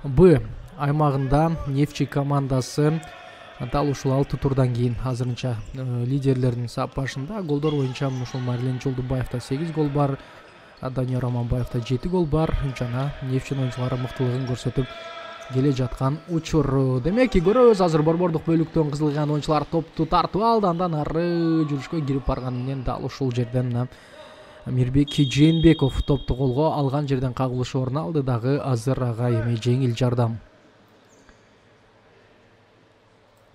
Б аймагында Нефчи командасы дал ушул алты турдан кийин азырынча лидерлердин сапашында. Голдор боюнча ушул Марлен Жолдубаевда сегиз гол бар, Данияр Аманбаевда жети гол бар. Жана Нефчинин оюнчулары мыктылыгын көрсөтүп келе жаткан учур. Демек көрөбүз, азыр борбордук бөлүктөн Кызыл Кыянын оюнчулары топту тартып алды, андан ары жүрүшкө кирип барганы менен дал ушул жерден Мирбек Жээнбеков топту колго алган жерден кагылыш орун алды дагы. Азыр ага эми жеңил жардам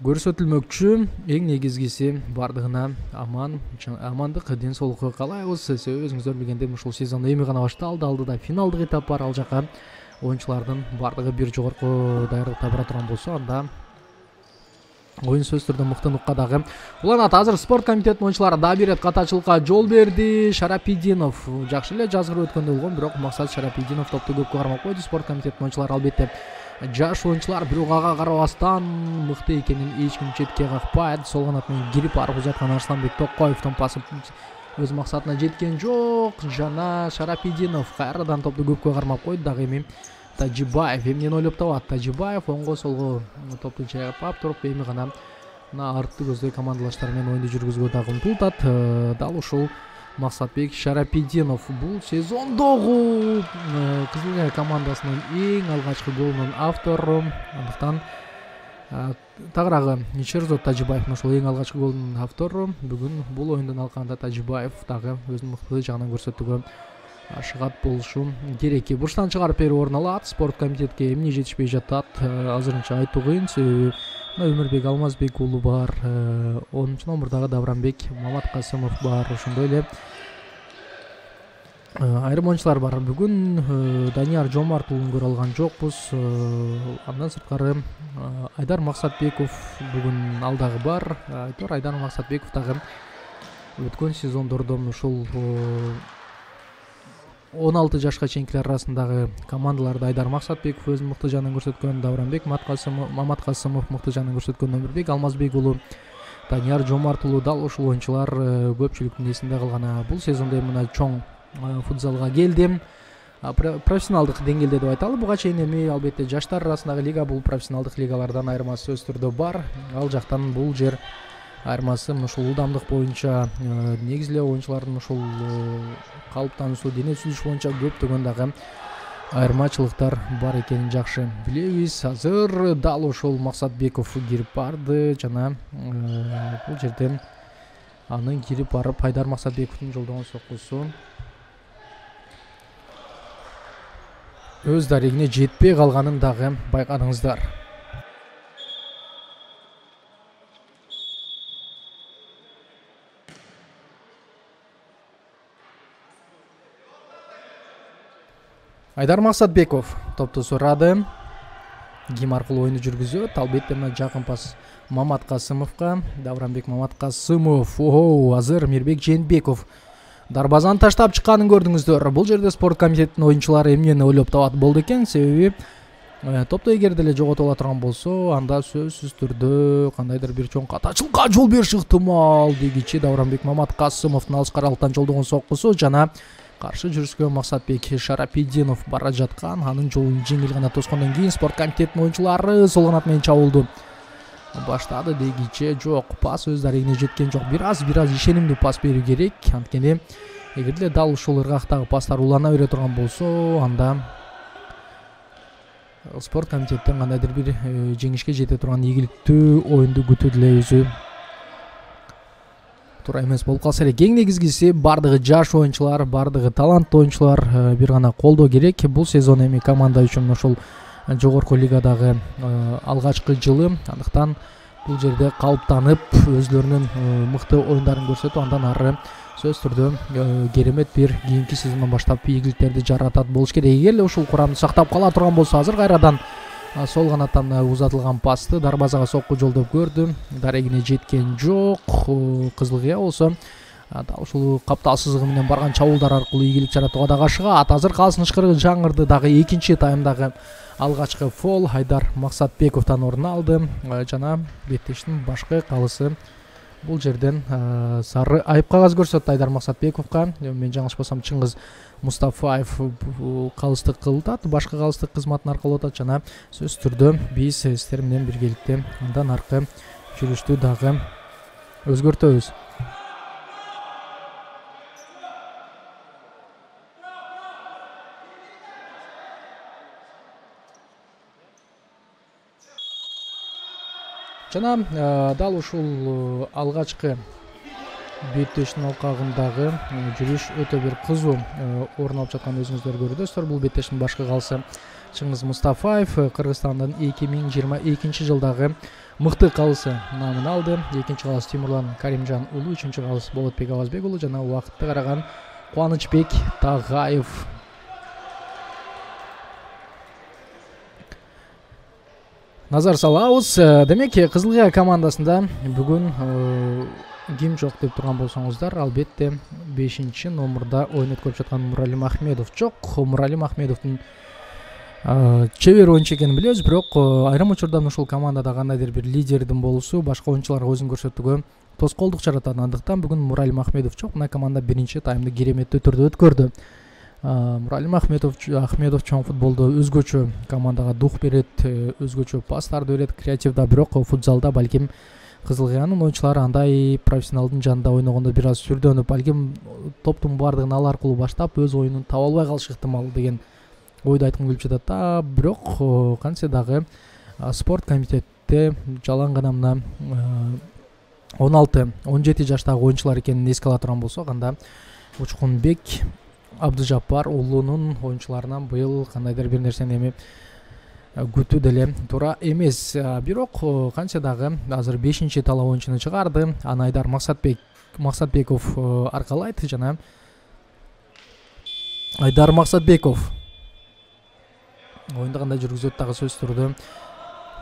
көрсөтүлмөкчү. Эң негизгиси бардыгына аман амандык, ден соолукку каалайбыз. Себеби өзүңүздөр билгендей ушул сезон эми гана башталды, алдыда финалдык этап бар. Ал жака оюнчулардын бардыгы бир жогорку даярдыкта бара турган болсо, анда оюн сөзсүз түрдө мыктылыкка дагы уланат. Азыр спорт комитетинин оюнчулары дагы бир катачылыкка жол берди. Шарапиддинов жакшы эле жазгырып өткөндөй болгон, бирок Максат Шарапиддинов топту көпкө кармап койду. Спорт комитетинин оюнчулары албетте жаш оюнчулар, бирок ага карабастан мыкты экенин эч ким четке какпайт. Сол канат менен кирип барып узаткан Арсланбек Токоевдон пасы өз максатына жеткен жок. Жана Шарапиддинов кайрадан топту көпкө кармап койду. Дагы эми Тажибаев эмнени ойлоп табат. Тажибаев оңго солго топту чайпап туруп эми гана мына артты көздөй командалаштары менен оюнду жүргүзүүгө дагы умтултат. Дал ушул Максатбек Шарапиддинов бул сезондогу Кызыл Кыя командасынын эң алгачкы голунун автору. Андыктан тагыраагы Шерзот Тажибаев ушул эң алгачкы голдун автору. Бүгүн бул оюндун алкагында Тажибаев дагы өзүнүн мыктылык жагынан көрсөтүүгө ашыгат болушу керек. Бурчтан чыгарып берүү орун алат. Спорт комитетке эмне жетишпей жатат азырынча айтуу кыйын, себеби Өмүрбек Алмазбек уулу бар, онунчу номурдагы Давранбек Маматкасымов бар, ошондой эле айрым оюнчулар бар. Бүгүн Данияр Жомарт уулун көрө алган жокпуз. Андан сырткары Айдар Максатбеков бүгүн ал дагы бар. Айтор Айдар Максатбеков дагы өткөн сезондордон ушул он алты жашка чейинкилер арасындагы командаларда Айдар Максатбеков өзүнүн мыкты жагынан көрсөткөн, Давранбек Маматкасымов мыкты жагынан көрсөткөн, Өмүрбек Алмазбек уулу, Данияр Жомарт уулу дал ушул оюнчулар көпчүлүктүн эсинде калган. Бул сезондо мына чоң футзалга келдим. Профессионалдык деңгээлде деп айталы. Буга чейин эми албетте жаштар арасындагы лига, бул профессионалдык лигалардан айырмасы сөзсүз түрдө бар. Ал жактан бул жер айырмасы ушул ылдамдык боюнча, негизи эле оюнчулардын ушул калыптануусу, дене түзүлүшү боюнча көптөгөн дагы айырмачылыктар бар экенин жакшы билебиз. Азыр дал ушул Максатбеков кирип барды жана бул жерден анын кирип барып Айдар Максатбековдун жолдогон соккусу өз дарегине жетпей калганын дагы байкадыңыздар. Айдар Максатбеков топту сурады. Ким аркылуу оюнду жүргүзөт? Албетте мына жакын пас Маматкасымовго. Давранбек Маматкасымов. Ого, азыр Мирбек Жээнбеков дарбазаны таштап чыкканын көрдүңүздөр. Бул жерде спорт комитетинин оюнчулары эмнени ойлоп табат болду экен? Себеби топту эгер деле жоготуп ала турган болсо, анда сөзсүз түрдө кандайдыр бир чоң катачылыкка жол бериши ыктымал. Дегичи Давранбек Маматкасымовдун алыс каралыктан жолдогон соккусу жана каршы жүрүшкө Максатбек Шарапидинов бара жаткан. Анын жолун жеңил гана тоскондон кийин спорт комитетинин оюнчулары сол канат менен чабуулду баштады дегиче жок, пас өз дарегине жеткен жок. Бир аз бир аз ишенимдүү пас берүү керек. Анткени эгерде дал ушул ыргактагы пастар улана бере турган болсо, анда спорт комитеттен кандайдыр бир жеңишке жете турган ийгиликтүү оюнду күтүү деле өзү туура эмес болуп калса элек. Эң негизгиси бардыгы жаш оюнчулар, бардыгы таланттуу оюнчулар бир гана колдоо керек. Бул сезон эми команда үчүн ошол жогорку лигадагы алгачкы жылы, андыктан бул жерде калыптанып өзлөрүнүн мыкты оюндарын көрсөтүп, андан ары сөз түрдө керемет бир кийинки сезондон баштап ийгиликтерди жаратат болуш керек. Эгер эле ушул курамды сактап кала турган болсо, азыр кайрадан сол канаттан узатылган пасты дарбазага сокку жолдоп көрдү. Дарегине жеткен жок. Кызыл кыя болсо дал ушул капталсыздыгы менен барган чабуулдар аркылуу ийгилик жаратууга да кашыгат. Азыр калсын ышкырыгы жаңырды. Дагы экинчи таймдагы алгачкы фол Айдар Максатбековдон орун алды жана беттештин башкы калысы бул жерден сары айып кагаз көрсөттү Айдар Максатбековго. Мен жаңылышпасам Чыңгыз Мустафаев калыстык кылат, башкы калыстык кызматын аркалап атат жана сөз түрдө биз сиздер менен биргеликте андан аркы жүрүштү дагы өзгөртөбүз. Жана дал ушул алгачкы беттештин алкагындагы жүрүш өтө бир кызуу орун алып жатканын өзүңүздөр көрдүңүздөр. Бул беттештин башкы калысы Чыңгыз Мустафаев Кыргызстандын эки миң жыйырма экинчи жылдагы мыкты калысы намын алды. Экинчи калыс Тимурлан Каримжан уулу, үчүнчү калыс Болотбек Абазбек уулу жана убакытты караган Кубанычбек Тагаев. Назар салабыз. Демек, Кызыл кыя командасында бүгүн ким жок деп турган болсоңуздар, албетте бешинчи номурда оюн өткөрүп жаткан Муралим Ахмедов жок. Муралим Ахмедовдун чебер оюнчу экенин билебиз, бирок айрым учурда ушул командада кандайдыр бир лидердин болуусу башка оюнчуларга өзүн көрсөтүүгө тоскоолдук жаратат. Андыктан бүгүн Муралим Ахмедов жок. Мына команда биринчи таймды кереметтүү түрдө өткөрдү. Муралим Ахмедов Ахмедов чоң футболдо өзгөчө командага дух берет, өзгөчө пастарды берет, креативда, бирок футзалда балким Кызыл кыянын оюнчулары андай профессионалдын жанында ойногондо бир аз сүрдөнүп, балким топтун баардыгын ал аркылуу баштап өз оюнун таба албай калышы ыктымал деген ойду айткым келип жатат да. Бирок кантсе дагы спорт комитетте жалаң гана мына он алты он жети жаштагы оюнчулар экенин эске ала турган болсок, анда Учкунбек Абдыжаппар уулунун оюнчуларынан быйыл кандайдыр бир нерсени эми күтүү деле туура эмес. Бирок кантсе дагы азыр бешинчи талап оюнчуну чыгарды. Аны Айдар Максатбек Максатбеков аркалайт жана Айдар Максатбеков оюнду кандай жүргүзөт дагы сөз түрдө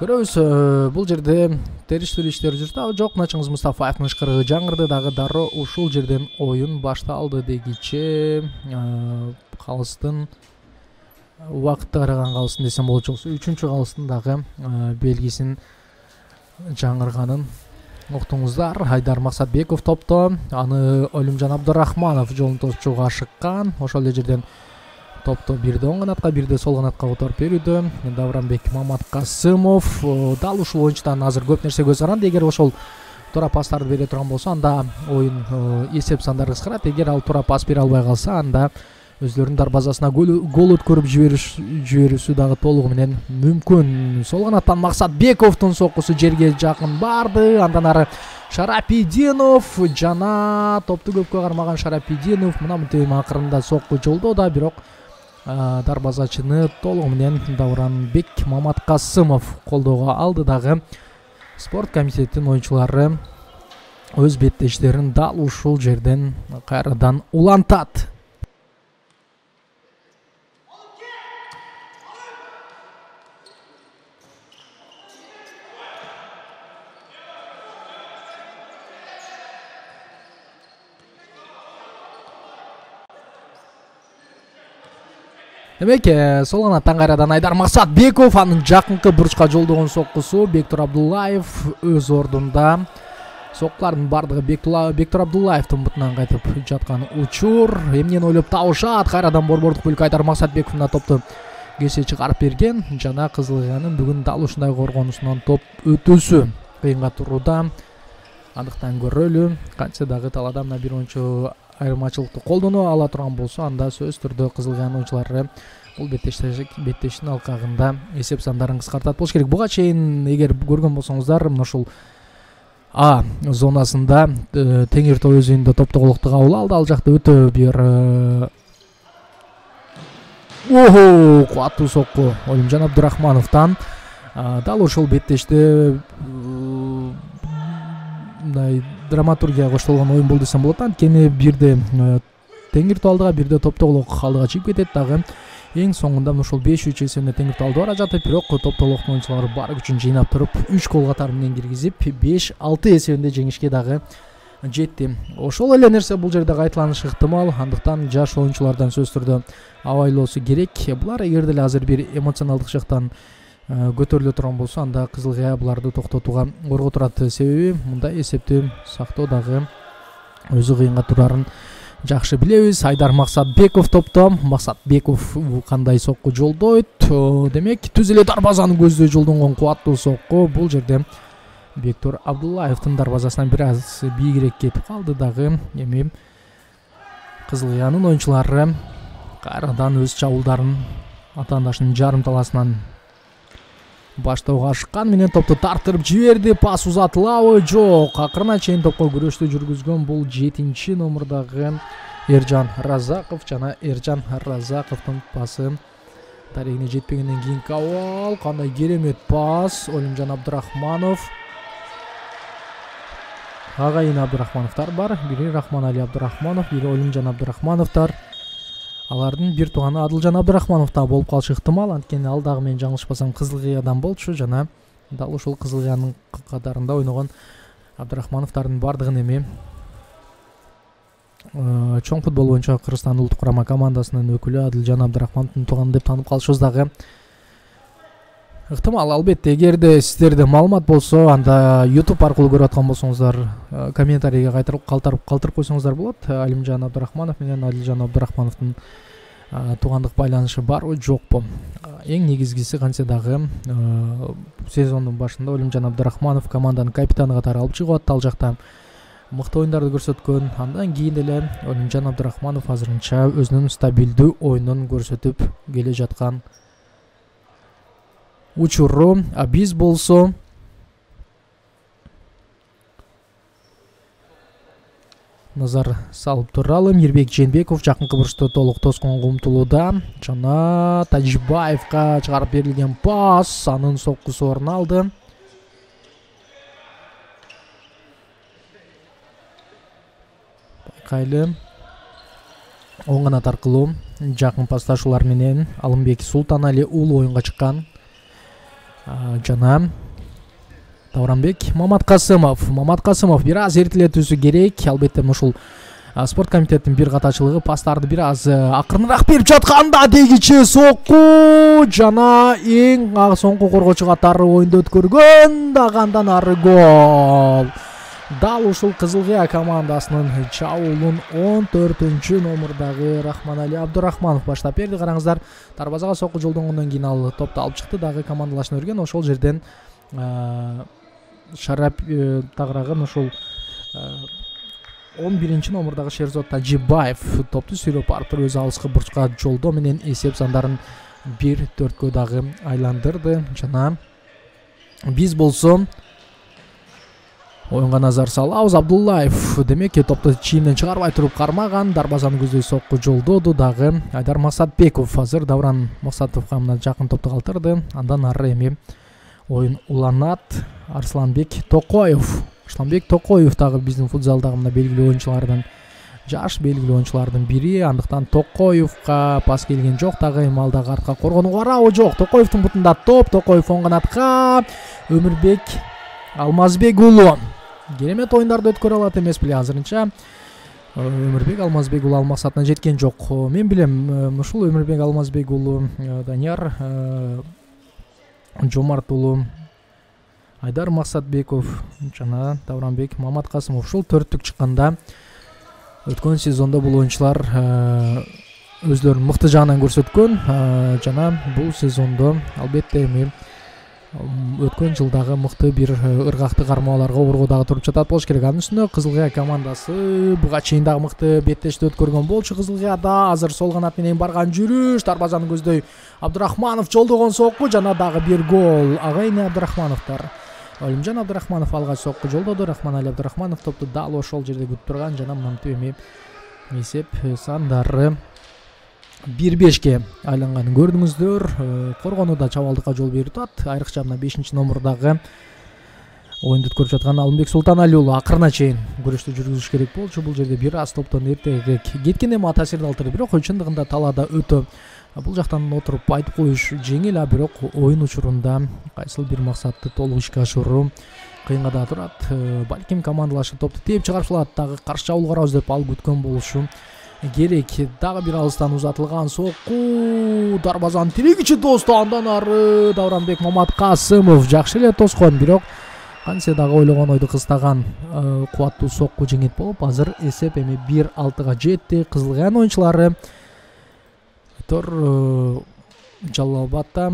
көрөбүз. Бул жерде териштүү иштер жүрүп жок. Чыңгыз Мустафаевдин ышкырыгы жаңырды. Дагы дароо ушул жерден оюн башталды дегиче калыстын убакытты караган калыстын десем болот жоксу. Үчүнчү калыстын дагы белгисин жаңырганын уктуңуздар. Айдар Максатбеков топто, аны Олимжан Абдурахманов жолун тосчуга ашыккан. Ошол эле жерден топто бирде оң канатка, бирде сол канатка которуп берүүдө Давранбек Маматкасымов. Дал ушул оюнчудан азыр көп нерсе көз каранды. Эгер ошол туура пастарды бере турган болсо, анда оюн эсеп сандары кыскарат. Эгер ал туура пас бере албай калса, анда өзлөрүнүн дарбазасына гол өткөрүп жиберүүсү дагы толугу менен мүмкүн. Сол канаттан Максатбековдун соккусу жерге жакын барды. Андан ары Шарапидинов жана топту көпкө кармаган Шарапидинов мына мынтип акырында сокку жолдоду, бирок дарбазачыны толугу менен Давранбек Маматкасымов колдоого алды. Дагы спорт комитетинин оюнчулары өз беттештерин дал ушул жерден кайрадан улантат. Демек, сол канаттан кайрадан Айдар Максатбеков, анын жакынкы бурчка жолдогон соккусу Бектур Абдуллаев өз ордунда соккулардын бардыгы Бектур Абдуллаевдин бутунан кайтып жаткан учур. Эмнени ойлоп табышат? Кайрадан борбордук бөлүккө Айдар Максатбеков мына топту кесе чыгарып берген. Жана Кызыл Кыянын бүгүн дал ушундай коргонусунан топ өтүүсү кыйынга турууда. Андыктан көрөлү. Кантсе дагы талаада мына бир оюнчу айырмачылыкты колдоно ала турган болсо, анда сөзсүз түрдө Кызыл Кыян оюнчулары бул беттештин алкагында эсеп сандарын кыскартат болуш керек. Буга чейин эгер көргөн болсоңуздар, мына ушул А зонасында Теңир Тоо өзүндө топту колукту кабыл алды. Ал жакта өтө бир ого кубаттуу сокку Олимжан Абдурахмановдон. Дал ошол беттеште мындай драматургия коштолгон оюн болду десем болот. Анткени бирде Теңир Тоо алдыга, бирде топту колук алдыга чыгып кетет дагы. Эң соңунда ушул беш үч эсебинде Теңир Тоо алды бара жатып, бирок топ толуктун оюнчулары бар күчүн жыйнап туруп үч гол катары менен киргизип беш алты эсебинде жеңишке дагы жетти. Ошол эле нерсе бул жерде кайталанышы ыктымал. Андыктан жаш оюнчулардан сөзсүз түрдө абайлоосу керек. Булар эгер деле азыр бир эмоционалдык жактан көтөрүлө турган болсо, анда Кызыл Кыя буларды токтотууга корго турат. Себеби мындай эсепти сактоо дагы өзү кыйынга турарын жакшы билебиз. Айдар Максатбеков топто. Максатбеков кандай сокку жолдойт? Демек, түз эле дарбазаны көздөй жолдонгон кубаттуу сокку. Бул жерде Бектур Абдуллаевдин дарбазасынан бир аз бийигирээк кетип калды дагы. Эми Кызыл Кыянын оюнчулары кайрадан өз чабуулдарын атаандашынын жарым таласынан баштоого ашыккан менен топту тартырып жиберди. Пас узатылабы? Жок. Акырына чейин топко күрөштү жүргүзгөн бул жетинчи номурдагы Эржан Разаков. Жана Эржан Разаковдун пасы тарегине жетпегенден кийинки абал. Кандай керемет пас. Олимжан Абдурахманов. Агайын Абдурахмановдор бар. Бири Рахманали Абдурахманов, бири Олимжан Абдурахмановдор. Алардын бир тууганы Адылжан Абдурахманов да болуп калышы ыктымал. Анткени ал дагы мен жаңылышпасам Кызыл Кыядан болчу. Жана дал ушул Кызыл Кыянын катарында ойногон Абдурахмановдордун бардыгын эми чоң футбол боюнча Кыргызстан улуттук курама командасынын өкүлү Адылжан Абдурахмановдун тууганы деп таанып калышыбыз дагы ыктымал. Албетте, эгерде сиздерде маалымат болсо, анда YouTube аркылуу көрүп аткан болсоңуздар, комментарийге кайтарып калтырып калтырып койсоңуздар болот. Алимжан Абдурахманов менен Адылжан Абдурахмановдун туугандык байланышы барбы, жокпу? Эң негизгиси кантсе дагы сезондун башында Алимжан Абдурахманов команданын капитаны катары алып чыгып атты. Ал жакта мыкты оюндарды көрсөткөн. Андан кийин эле Алимжан Абдурахманов азырынча өзүнүн стабилдүү оюнун көрсөтүп келе жаткан учуру. А биз болсо назар салып туралы. Мирбек Жээнбеков жакынкы бурчта толук тосконго умтулууда. Жана Тажибаевга чыгарып берилген пас, анын соккусу орун алды. Байкайлы оң канат аркылуу жакын пасташуулар менен Алымбек Султанали уулу оюнга чыккан. Жана Давранбек Маматкасымов. Маматкасымов бир аз эртелетүүсү керек. Албетте ушул спорт комитеттин бир катачылыгы пастарды бир аз акырыныраак берип жатканда дегиче сокку жана эң соңку коргоочу катары оюнду өткөргөн, дагы андан ары гол. Дал ушул Кызыл Кыя командасынын чабуулун он төртүнчү номурдагы Рахманали Абдурахманов баштап берди. Караңыздар, дарбазага сокку жолдонгондон кийин ал топту алып чыкты, дагы командалашына өргөн. Ошол жерден шарап тагырагын ушул он биринчи номурдагы Шерзод Тажибаев топту сүйрөп барып туруп өзү алыскы бурчка жолдоо менен эсеп сандарын бир төрткө дагы айландырды. Жана биз болсо оюнга назар салабыз. Абдуллаев демек топту чийимден чыгарбай туруп кармаган, дарбазаны көздөй сокку жолдоду. Дагы Айдар Максатбеков азыр Давран Максатовго мына жакын топту калтырды. Андан ары эми оюн уланат. Арсланбек Токоев. Арсланбек Токоев дагы биздин футзалдагы мына белгилүү оюнчулардан, жаш белгилүү оюнчулардын бири. Андыктан Токоевго пас келген жок. Дагы эми ал дагы артка коргонууга барабы? Жок. Токоевдун бутунда топ. Токоев оң канатка. Өмүрбек Алмазбек уулу керемет оюндарды өткөрө алат эмес беле азырынча. Өмүрбек Алмазбек уулу ал максатына жеткен жок. Мен билем, ушул Өмүрбек Алмазбек уулу Данияр Жомарт уулу Айдар Максатбеков жана Давранбек Маматкасымов. Ушул төрттүк чыкканда өткөн сезондо бул оюнчулар өзлөрүн мыкты жагынан көрсөткөн жана бул сезондо албетте эми өткөн жылдагы мыкты бир ыргакты кармоолорго орго дагы туруп жатат болуш керек. Анын үстүнө Кызыл Кыя командасы буга чейин дагы мыкты беттештик өткөргөн болчу. Кызыл Кыяда азыр сол канат менен барган жүрүш, дарбазаны көздөй Абдырахманов жолдогон сокку жана дагы бир гол. Агайын Абдырахмановдор. Олимжан Абдырахманов алгач сокку жолдоду. Рахманали Абдырахманов топту дал ошол жерде күтүп турган жана мынтип эми эсеп сандары бир бешке айланганын көрдүңүздөр. Коргонууда чабалдыкка жол берип атат. Айрыкча мына бешинчи номурдагы оюнду өткөрүп жаткан Алымбек Султаналиұлы уулу акырына чейин күрөштү жүргүзүш керек болчу. Бул жерде бир аз топтон эртерээк кеткен эми таасирди алтыры, бирок чындыгында талаада өтө бул жактан отуруп айтып коюш жеңил, а бирок оюн учурунда кайсыл бир максатты толук ишке ашыруу кыйынга да турат. Балким командалашып топту тээп чыгарып салат, дагы каршы чабуул карабыз деп ал күткөн болушу керек. Дагы бир алыстан узатылган сокку, дарбазанын тирегичи тосту, андан ары Давранбек Маматкасымов жакшы эле тоскон, бирок кантсе дагы ойлогон ойду кыстаган кубаттуу сокку жеңет болуп, азыр эсеп эми бир алтыга жетти. Кызыл Кыянын оюнчулары Тор Жалал Абадта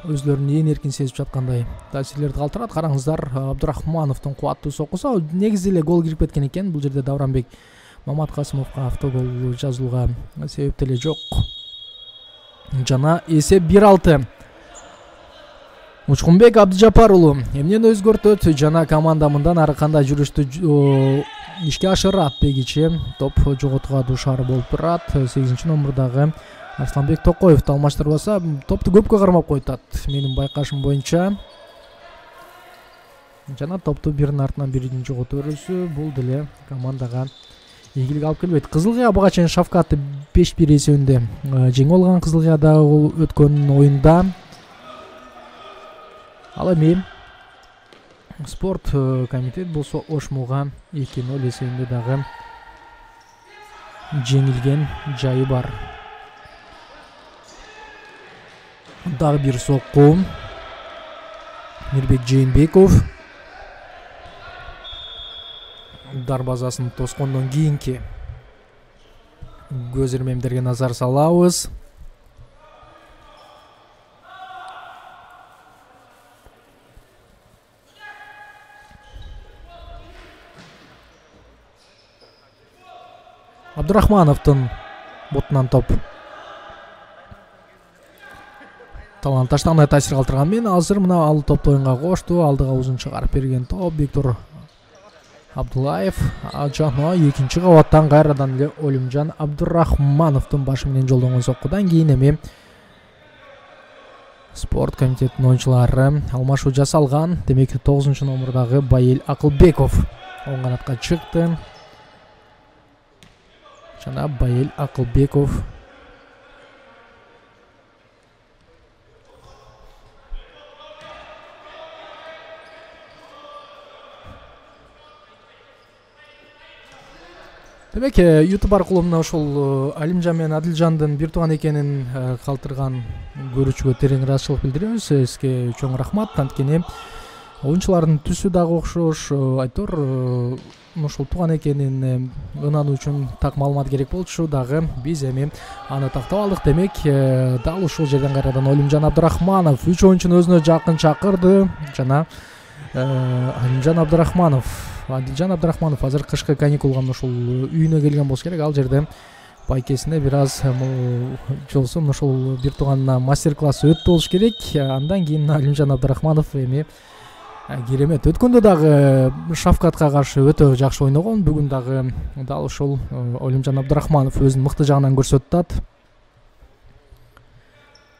өзлөрүн ээн эркин сезип жаткандай таасирлерди калтырат. Караңыздар, Абдырахмановдун кубаттуу соккусу негизи эле гол кирип кеткен экен. Бул жерде Давранбек Маматкасымовго автогол жазууга себеп деле жок. Жана эсеп бир алты. Учкунбек Абдыжапар уулу эмнени өзгөртөт жана команда мындан ары кандай жүрүштү ишке ашырат дегиче топ жоготууга дуушар болуп турат. сегизинчи номурдагы Арсланбек Токоевду алмаштырбаса топту көпкө кармап коюп атат менин байкашым боюнча. Жана топту биринин артынан бирин жоготуп берүүсү бул деле командага ийгилик алып келбейт. Кызыл Кыя буга чейин Шавкатты беш бир эсебинде жеңип алган. Кызыл Кыяда өткөн оюнда. Ал эми спорт комитет болсо Ошмуга эки ноль эсебинде дагы жеңилген жайы бар. Дагы бир сокку. Мирбек Жээнбеков дарбазасын тоскондон кийинки көз ирмемдерге назар салабыз. Абдырахмановдун бутунан топ талант таштагандай таасир калтырган мен азыр мына ал топту оюнга кошту. Алдыга узун чыгарып берген топ Виктор Абдулаев жана экинчи кабаттан кайрадан эле Олимжан Абдырахмановдун башы менен жолдонгон соккудан кийин эми спорт комитетинин оюнчулары алмашуу жасалган. Демек тогузунчу номурдагы Байел Акылбеков оң канатка чыкты. Жана Байел Акылбеков демек YouTube аркылуу мына ошол Алимжан менен Адилжандын бир тууган экенин калтырган көрүүчүгө терең ыраазычылык билдиребиз. Эске чоң рахмат. Анткени оюнчулардын түсү дагы окшош. Айтор ошол тууган экенин ынануу үчүн так маалымат керек болчу. Дагы биз эми аны тактап алдык. Демек дал ушул жерден кайрадан Олимжан Абдырахманов үч оюнчуну өзүнө жакын чакырды. Жана Алимжан Абдырахманов Адилжан Абдырахманов азыр кышкы каникулга ошол үйүнө келген болсо керек. Ал жерде байкесине бир аз жолсо ошол бир тууганына мастер класс өттү болуш керек. Андан кийин Алимжан Абдырахманов эми керемет. Өткөндө дагы Шавкатка каршы өтө жакшы ойногон. Бүгүн дагы дал ошол Олимжан Абдырахманов өзүнүн мыкты жагынан көрсөтүп атат.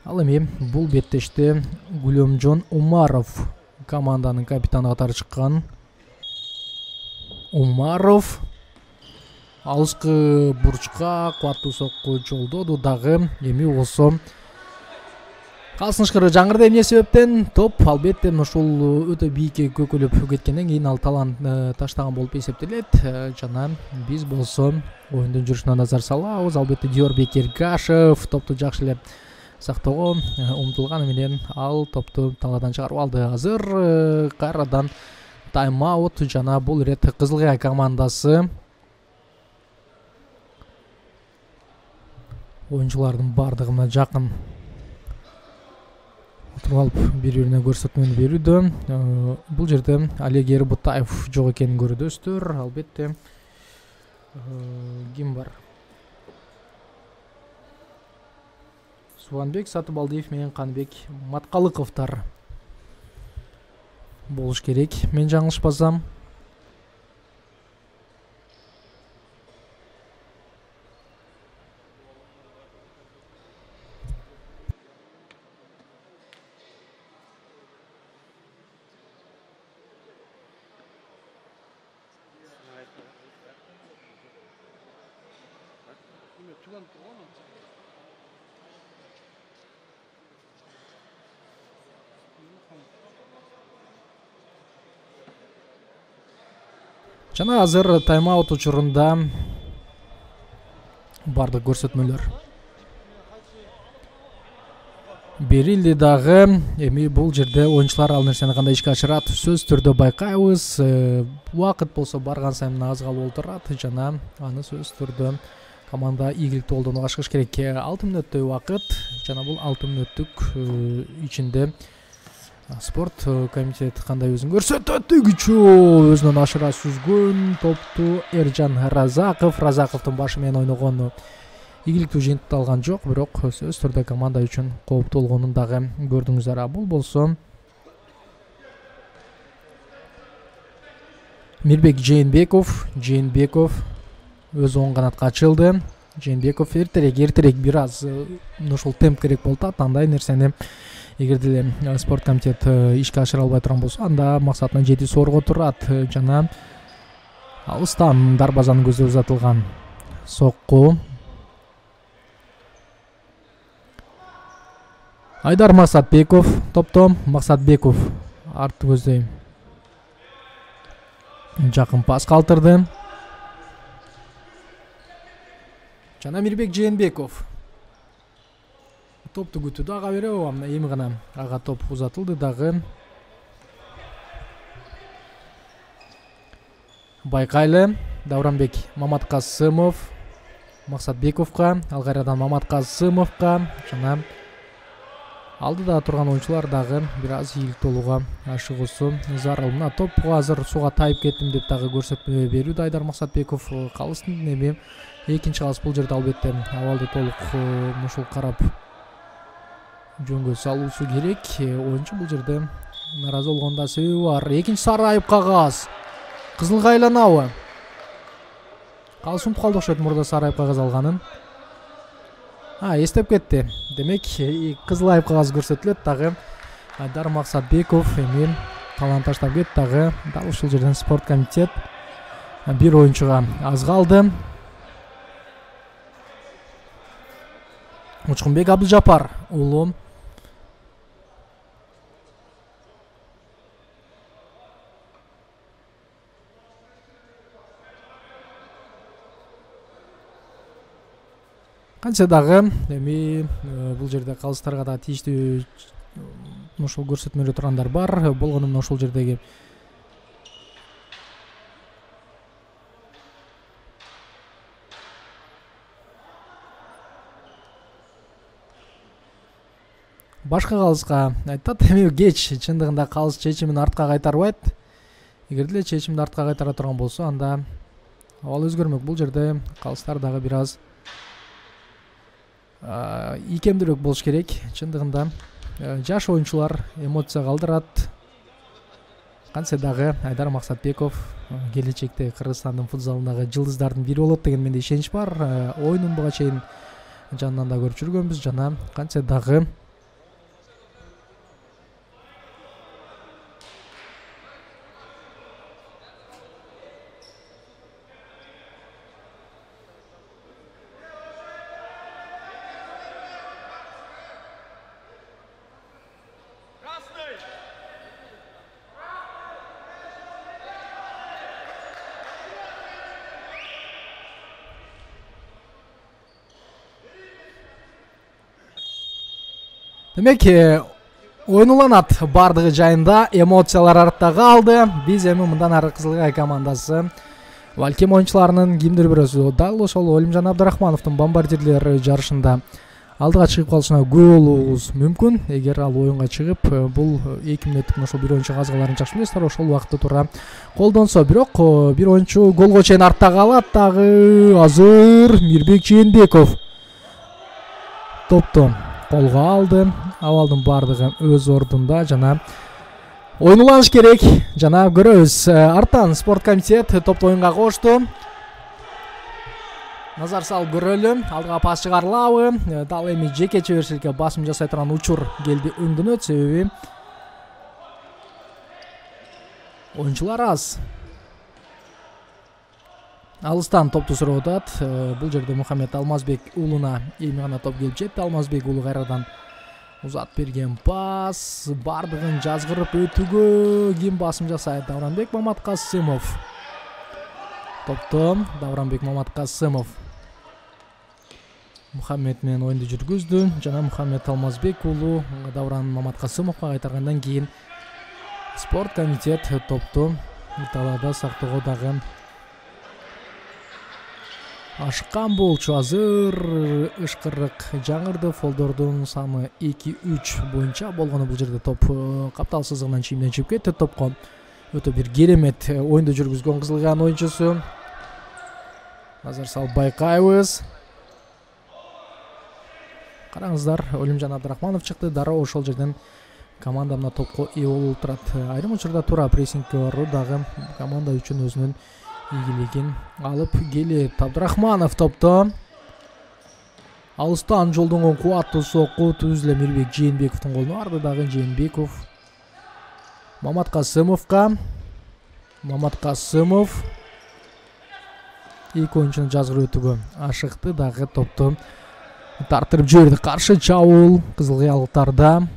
Ал эми бул беттеште Гүлөмжон Умаров команданын капитаны катары чыккан. Умаров алыскы бурчка кубаттуу сокку жолдоду дагы. Эми болсо калсын ышкыры жаңырды. Эмне себептен? Топ албетте ушул өтө бийикке көкөлөп кеткенден кийин ал талант таштаган болуп эсептелет. Жана биз болсо оюндун жүрүшүнө назар салабыз. Албетте Диорбек Эргашев топту жакшы эле сактоого умтулганы менен ал топту талаадан чыгарып алды. Азыр кайрадан тайм-аут жана бул ирет Кызыл Кая командасы оюнчулардын бардыгы мына жакын отуруп алып бири-бирине көрсөтмөнү берүүдө. Бул жерде Олег Ербутаев жок экенин көрүдөсүздөр. Албетте ким бар? Субанбек Сатыбалдиев менен Канбек Маткалыковдор болуш керек, мен жаңылышпасам. Жана азыр тайм-аут учурунда бардык көрсөтмөлөр берилди дагы. Эми бул жерде оюнчулар ал нерсени кандай ишке ашырат сөзсүз түрдө байкайбыз. Убакыт болсо барган сайын аз калып отурат жана аны сөзсүз түрдө команда ийгиликтүү колдонууга ашыгыш керек. алты мүнөттөй убакыт жана бул алты мүнөттүк ичинде спорт комитети кандай өзүн көрсөтөт? Үгүчү өзүнөн ашыра сүзгөн топту Эржан Разаков. Разаковдун башы менен ойногону ийгиликтүү жыйынтыкталган жок, бирок сөзсүз түрдө команда үчүн кооптуу болгонун дагы көрдүңүздөр. Бул болсо Мирбек Жээнбеков. Жээнбеков өз оң канатка ачылды. Жээнбеков эртерээк эртерээк бир аз ушул темп керек болуп атат. Андай нерсени эгерде эле спорт комитет ишке ашыра албай турган болсо, анда максатына жетүү соорго турат. Жана алыстан дарбазанын көзү узатылган сокку. Айдар Максатбеков топтон. Максатбеков артты көздөй жакын пас калтырды. Жана Мирбек Жээнбеков топту күтүүдө, ага бере алам. Эми гана ага топ узатылды дагы. Байкайлы Давранбек Маматкасымов Максатбековго, ал кайрадан Маматкасымовго жана алдыда турган оюнчулар дагы бир аз ийгиликтүү болууга ашыгуусу зарыл. Мына топко азыр сууга тайып кеттим деп дагы көрсөтмө берүүдө Айдар Максатбеков. Калыстын эми экинчи калыс бул жерде албетте абалды толук ушул карап жөнгө салуусу керек. Оюнчу бул жерде наразы болгонда себеби бар. Экинчи сары айып кагаз. Кызылга айланабы? Калыс унутуп калды окшойт мурда сары айып кагаз алганын. А, эстеп кетти. Демек, кызыл айып кагаз көрсөтүлөт дагы. Айдар Максатбеков эми талант таштап кетти дагы. Дал ушул жерден спорт комитет бир оюнчуга аз калды. Учкунбек Абдыжапар уулу кантсе дагы эми бул жерде калыстарга да тийиштүү ушул көрсөтмөлө тургандар бар. Болгону мына ушул жердеги башка калыска айтат. Эми кеч чындыгында калыс чечимин артка кайтарбайт. Эгерде эле чечимди артка кайтара турган болсо, анда абал өзгөрмөк. Бул жерде калыстар дагы бир аз ийкемдүүрөөк болуш керек. Чындыгында жаш оюнчулар эмоция калтырат. Кантсе дагы Айдар Максатбеков келечекте Кыргызстандын футзалындагы жылдыздардын бири болот деген менде ишенич бар. Оюнун буга чейин жанынан да көрүп жүргөнбүз жана кантсе дагы Демек ойнуланат бардыгы жайында, эмоциялар артта калды. Биз эми мындан ары Кызылгай командасы балким оюнчуларынын кимдир бирөөсү дал ошол Олимжан Абдрахмановдун бомбардирлер жарышында алдыга чыгып калышына күбө болуубуз мүмкүн. Эгер ал оюнга чыгып, бул эки мүнөттүк ошол бир оюнчу казгаларын жакшы билесиздер, ошол убакытта туура колдонсо. Бирок бир оюнчу голго чейин артта калат дагы. Азыр Мирбек Жээнбеков топту колго алды. Абалдын бардыгы өз ордунда жана ойнуланыш керек. Жана көрөбүз. Арттан спорт комитет топту оюнга кошту. Назар салып көрөлү. Алдыга пас чыгарылабы? Дал эми жеке чеберчиликке басым жасай турган учур келди өңдөнөт, себеби оюнчулар аз. Алыстан топту сурап атат. Бул жерде Мухаммед Алмазбек уулуна эми гана топ келип жетти. Алмазбек уулу кайрадан узат берген пас. Бардыгын жазгырып өтүүгө ким басым жасайт? Давранбек Маматкасымов. Топту Давранбек Маматкасымов Мухаммед менен оюнду жүргүздү. Жана Мухаммед Алмазбек уулу Давран Маматкасымовго кайтаргандан кийин спорт комитет топту талаада сактоого дагы ашыккан болчу. Азыр ышкырык жаңырды. Фолдордун саны эки үч боюнча болгону бул жерде топ каптал сызыгынан чийимден чыгып кетти. Топко өтө бир керемет оюнду жүргүзгөн Кызылгайдын оюнчусу. Назар салып байкайбыз. Караңыздар, Олимжан Абдрахманов чыкты. Дароо ошол жерден команда мына топко ээ болуп турат. Айрым учурда туура прессингке баруу дагы команда үчүн өзүнүн ийгилигин алып келет. Абдрахманов топту алыстан жолдонгон кубаттуу сокку түз эле Мирбек Жээнбековдун колуна барды. Дагы Жээнбеков Маматкасымовго. Маматкасымов эки оюнчуну жазгырып өтүүгө ашыкты. Дагы топту тартырып жиберди. Каршы чабуул кызылкыялыктарда.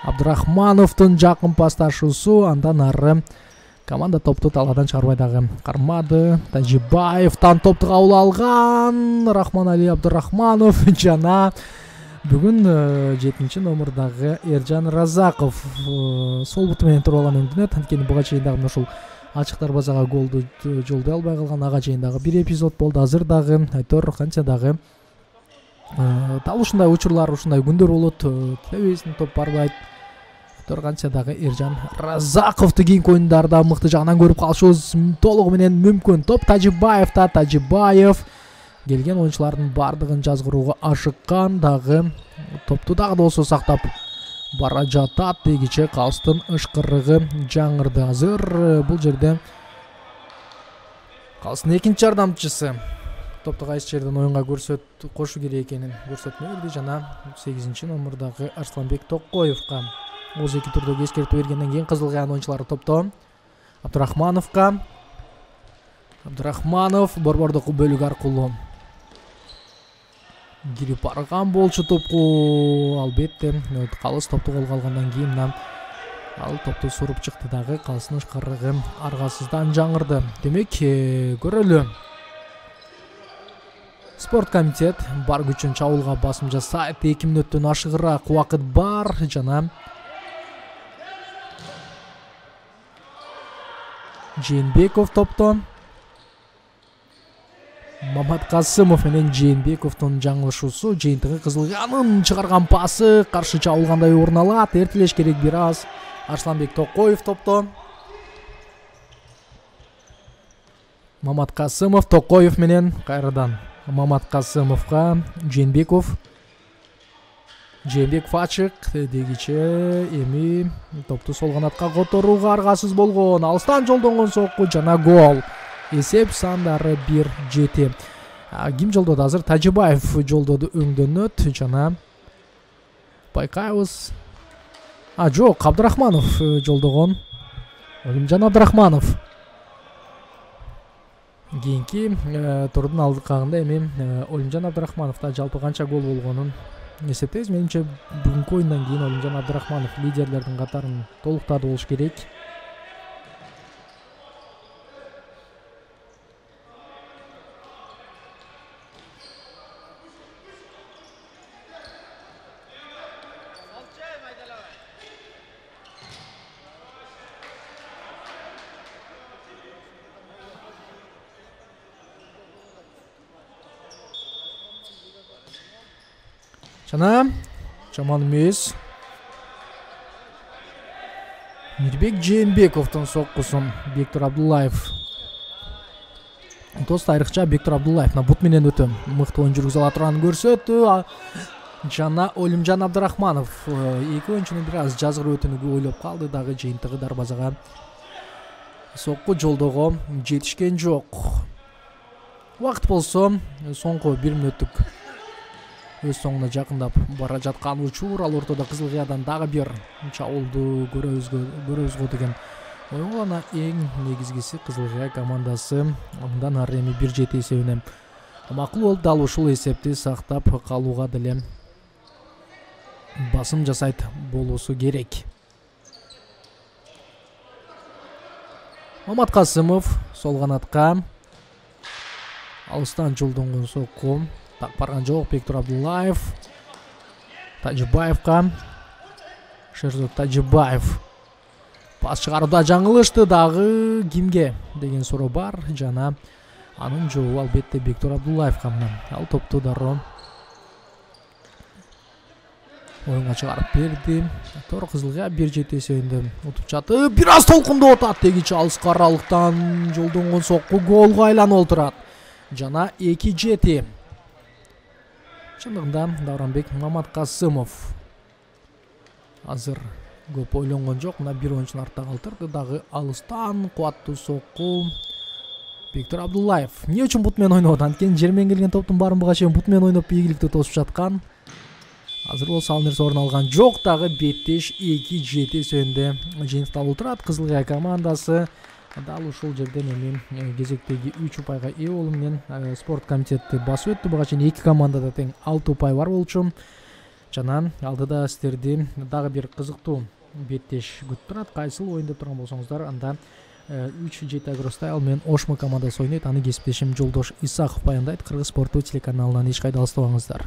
Абдрахмановдун жакын пасташуусу, андан ары команда топту талаадан чыгарбай дагы кармады. Тажибаевден топту кабыл алган Рахманали Абдрахманов жана бүгүн жетинчи номурдагы Эржан Разаков сол буту менен туруп алган өңдөнөт. Анткени буга чейин дагы ушул ачык дарбазага голду жолдой албай калган. Ага чейин дагы бир эпизод болду. Азыр дагы айтор канча дагы дал ушундай учурлар, ушундай күндөр болот. Телебизион топ барбайт. Айтор канча дагы Эржан Разаковду кийинки оюндарда мыкты жагынан көрүп калышыбыз толугу менен мүмкүн. Топ Тажибаевда. Тажибаев келген оюнчулардын бардыгын жазгырууга ашыккан. Дагы топту дагы да болсо сактап бара жатат. Дегиче калыстын ышкырыгы жаңырды. Азыр бул жерде калыстын экинчи жардамчысы топту кайсы жерден оюнга көрсөт кошу керек экенин көрсөтмө берди. Жана сегизинчи номурдагы Арсланбек Токоевго оз эки турдогу эскертүү бергенден кийин Кызылкайдын оюнчулары топтон Абдрахмановго. Абдрахманов борбордук бөлүк аркылуу кирип барган болчу топку. Албетте калыс топту колго алгандан кийин ал топту суруп чыкты. Дагы калыстын ышкырыгы аргасыздан жаңырды. Демек көрөлү. Спорт комитет бар күчүн чабуулга басым жасайт. эки мүнөттөн ашыгыраак убакыт бар. Жана Жээнбеков топту. Маматкасымов менен Жээнбековдун жаңылышуусу жыйынтыгы Кызылкайдын чыгарган пасы каршы чабылгандай орун алат. Эртелеш керек бир аз. Арсланбек Токоев топту. Маматкасымов Токоев менен кайрадан Маматкасымовго. Жээнбеков. Жээнбеков ачык. Дегиче эми топту сол канатка которууга аргасыз болгон. Алыстан жолдонгон сокку жана гол. Эсеп сандары бир жети. Ким жолдоду? Азыр Тажибаев жолдоду өңдөнөт. Жана байкайбыз. А жок, Абдрахманов жолдогон. Олимжан Абдрахманов. Кийинки турдун алдыкагында эми Олимжан Абдрахмановда жалпы канча гол болгонун эсептейбиз. Менимче бүгүнкү оюндан кийин Олимжан Абдрахманов лидерлердин катарын толуктады болуш керек. жана жаман эмес. Мирбек Жээнбековдун соккусун Бектур Абдуллаев. Дос тарыхча Бектур Абдуллаев бут менен өтө мыкты оюн жүргүзө ала турганын көрсөттү. Жана Олимжан Абдрахманов эки оюнчунун бир аз жазгыр өтүүнү ойлоп калды, дагы жыйынтыгы дарбазага сокку жолдого жетишкен жок. Убакыт болсо соңку бир мүнөттүк өз соңуна жакындап бара жаткан учур. Ал ортодо Кызыл Кыядан дагы бир чабуулду көрөбүз го деген ой. Ана эң негизгиси Кызыл Кыя командасы мындан ары эми бир жети эсебине макул болуп, дал ушул эсепти сактап калууга деле басым жасайт болуусу керек. Мамат Касымов сол канатка алыстан жолдонгон сокку так барган жок. Бектур Абдуллаев Тажибаевка. Шерзод Тажибаев пас чыгарууда жаңылышты, дагы кимге деген суроо бар. Жана анын жообу албетте Бектур Абдуллаевка. Ал топту дароо оюнга чыгарып берди. Тор Кызыл Кыя бир жети эсебинде утуп жатып, бир аз толкундоп атат. Тегичи алыска аралыктан жолдонгон сокку голго айланып олтурат. Жана эки жети. Чындыгында Давранбек Мамат Касымов азыр көп ойлонгон жок. Мына бир оюнчуну артта калтырды, дагы алыстан кубаттуу сокку Бектур Абдуллаев. Эмне үчүн бут менен ойноп? Анткени жер менен келген топтун баарын буга чейин бут менен ойноп ийгиликтүү тосуп жаткан. Азыр болсо ал нерсе орун алган жок. Дагы беттеш эки жети эсебинде жыйынтыкта олтурат Кызыл Кыя командасы. Дал ушул жерден эми кезектеги үч упайга ээ болуу менен спорт комитети басып өттү. Буга чейин эки командада тең алты упай бар болчу. Жана алдыда сиздерди дагы бир кызыктуу беттеш күтүп турат. Кайсыл оюн деп турган болсоңуздар, анда үч жети Агростайл менен Ошмо командасы ойнойт. Аны кесиптешим Жолдош Исаков баяндайт. Кыргыз спорттуу телеканалынан эч кайда алыстабаңыздар.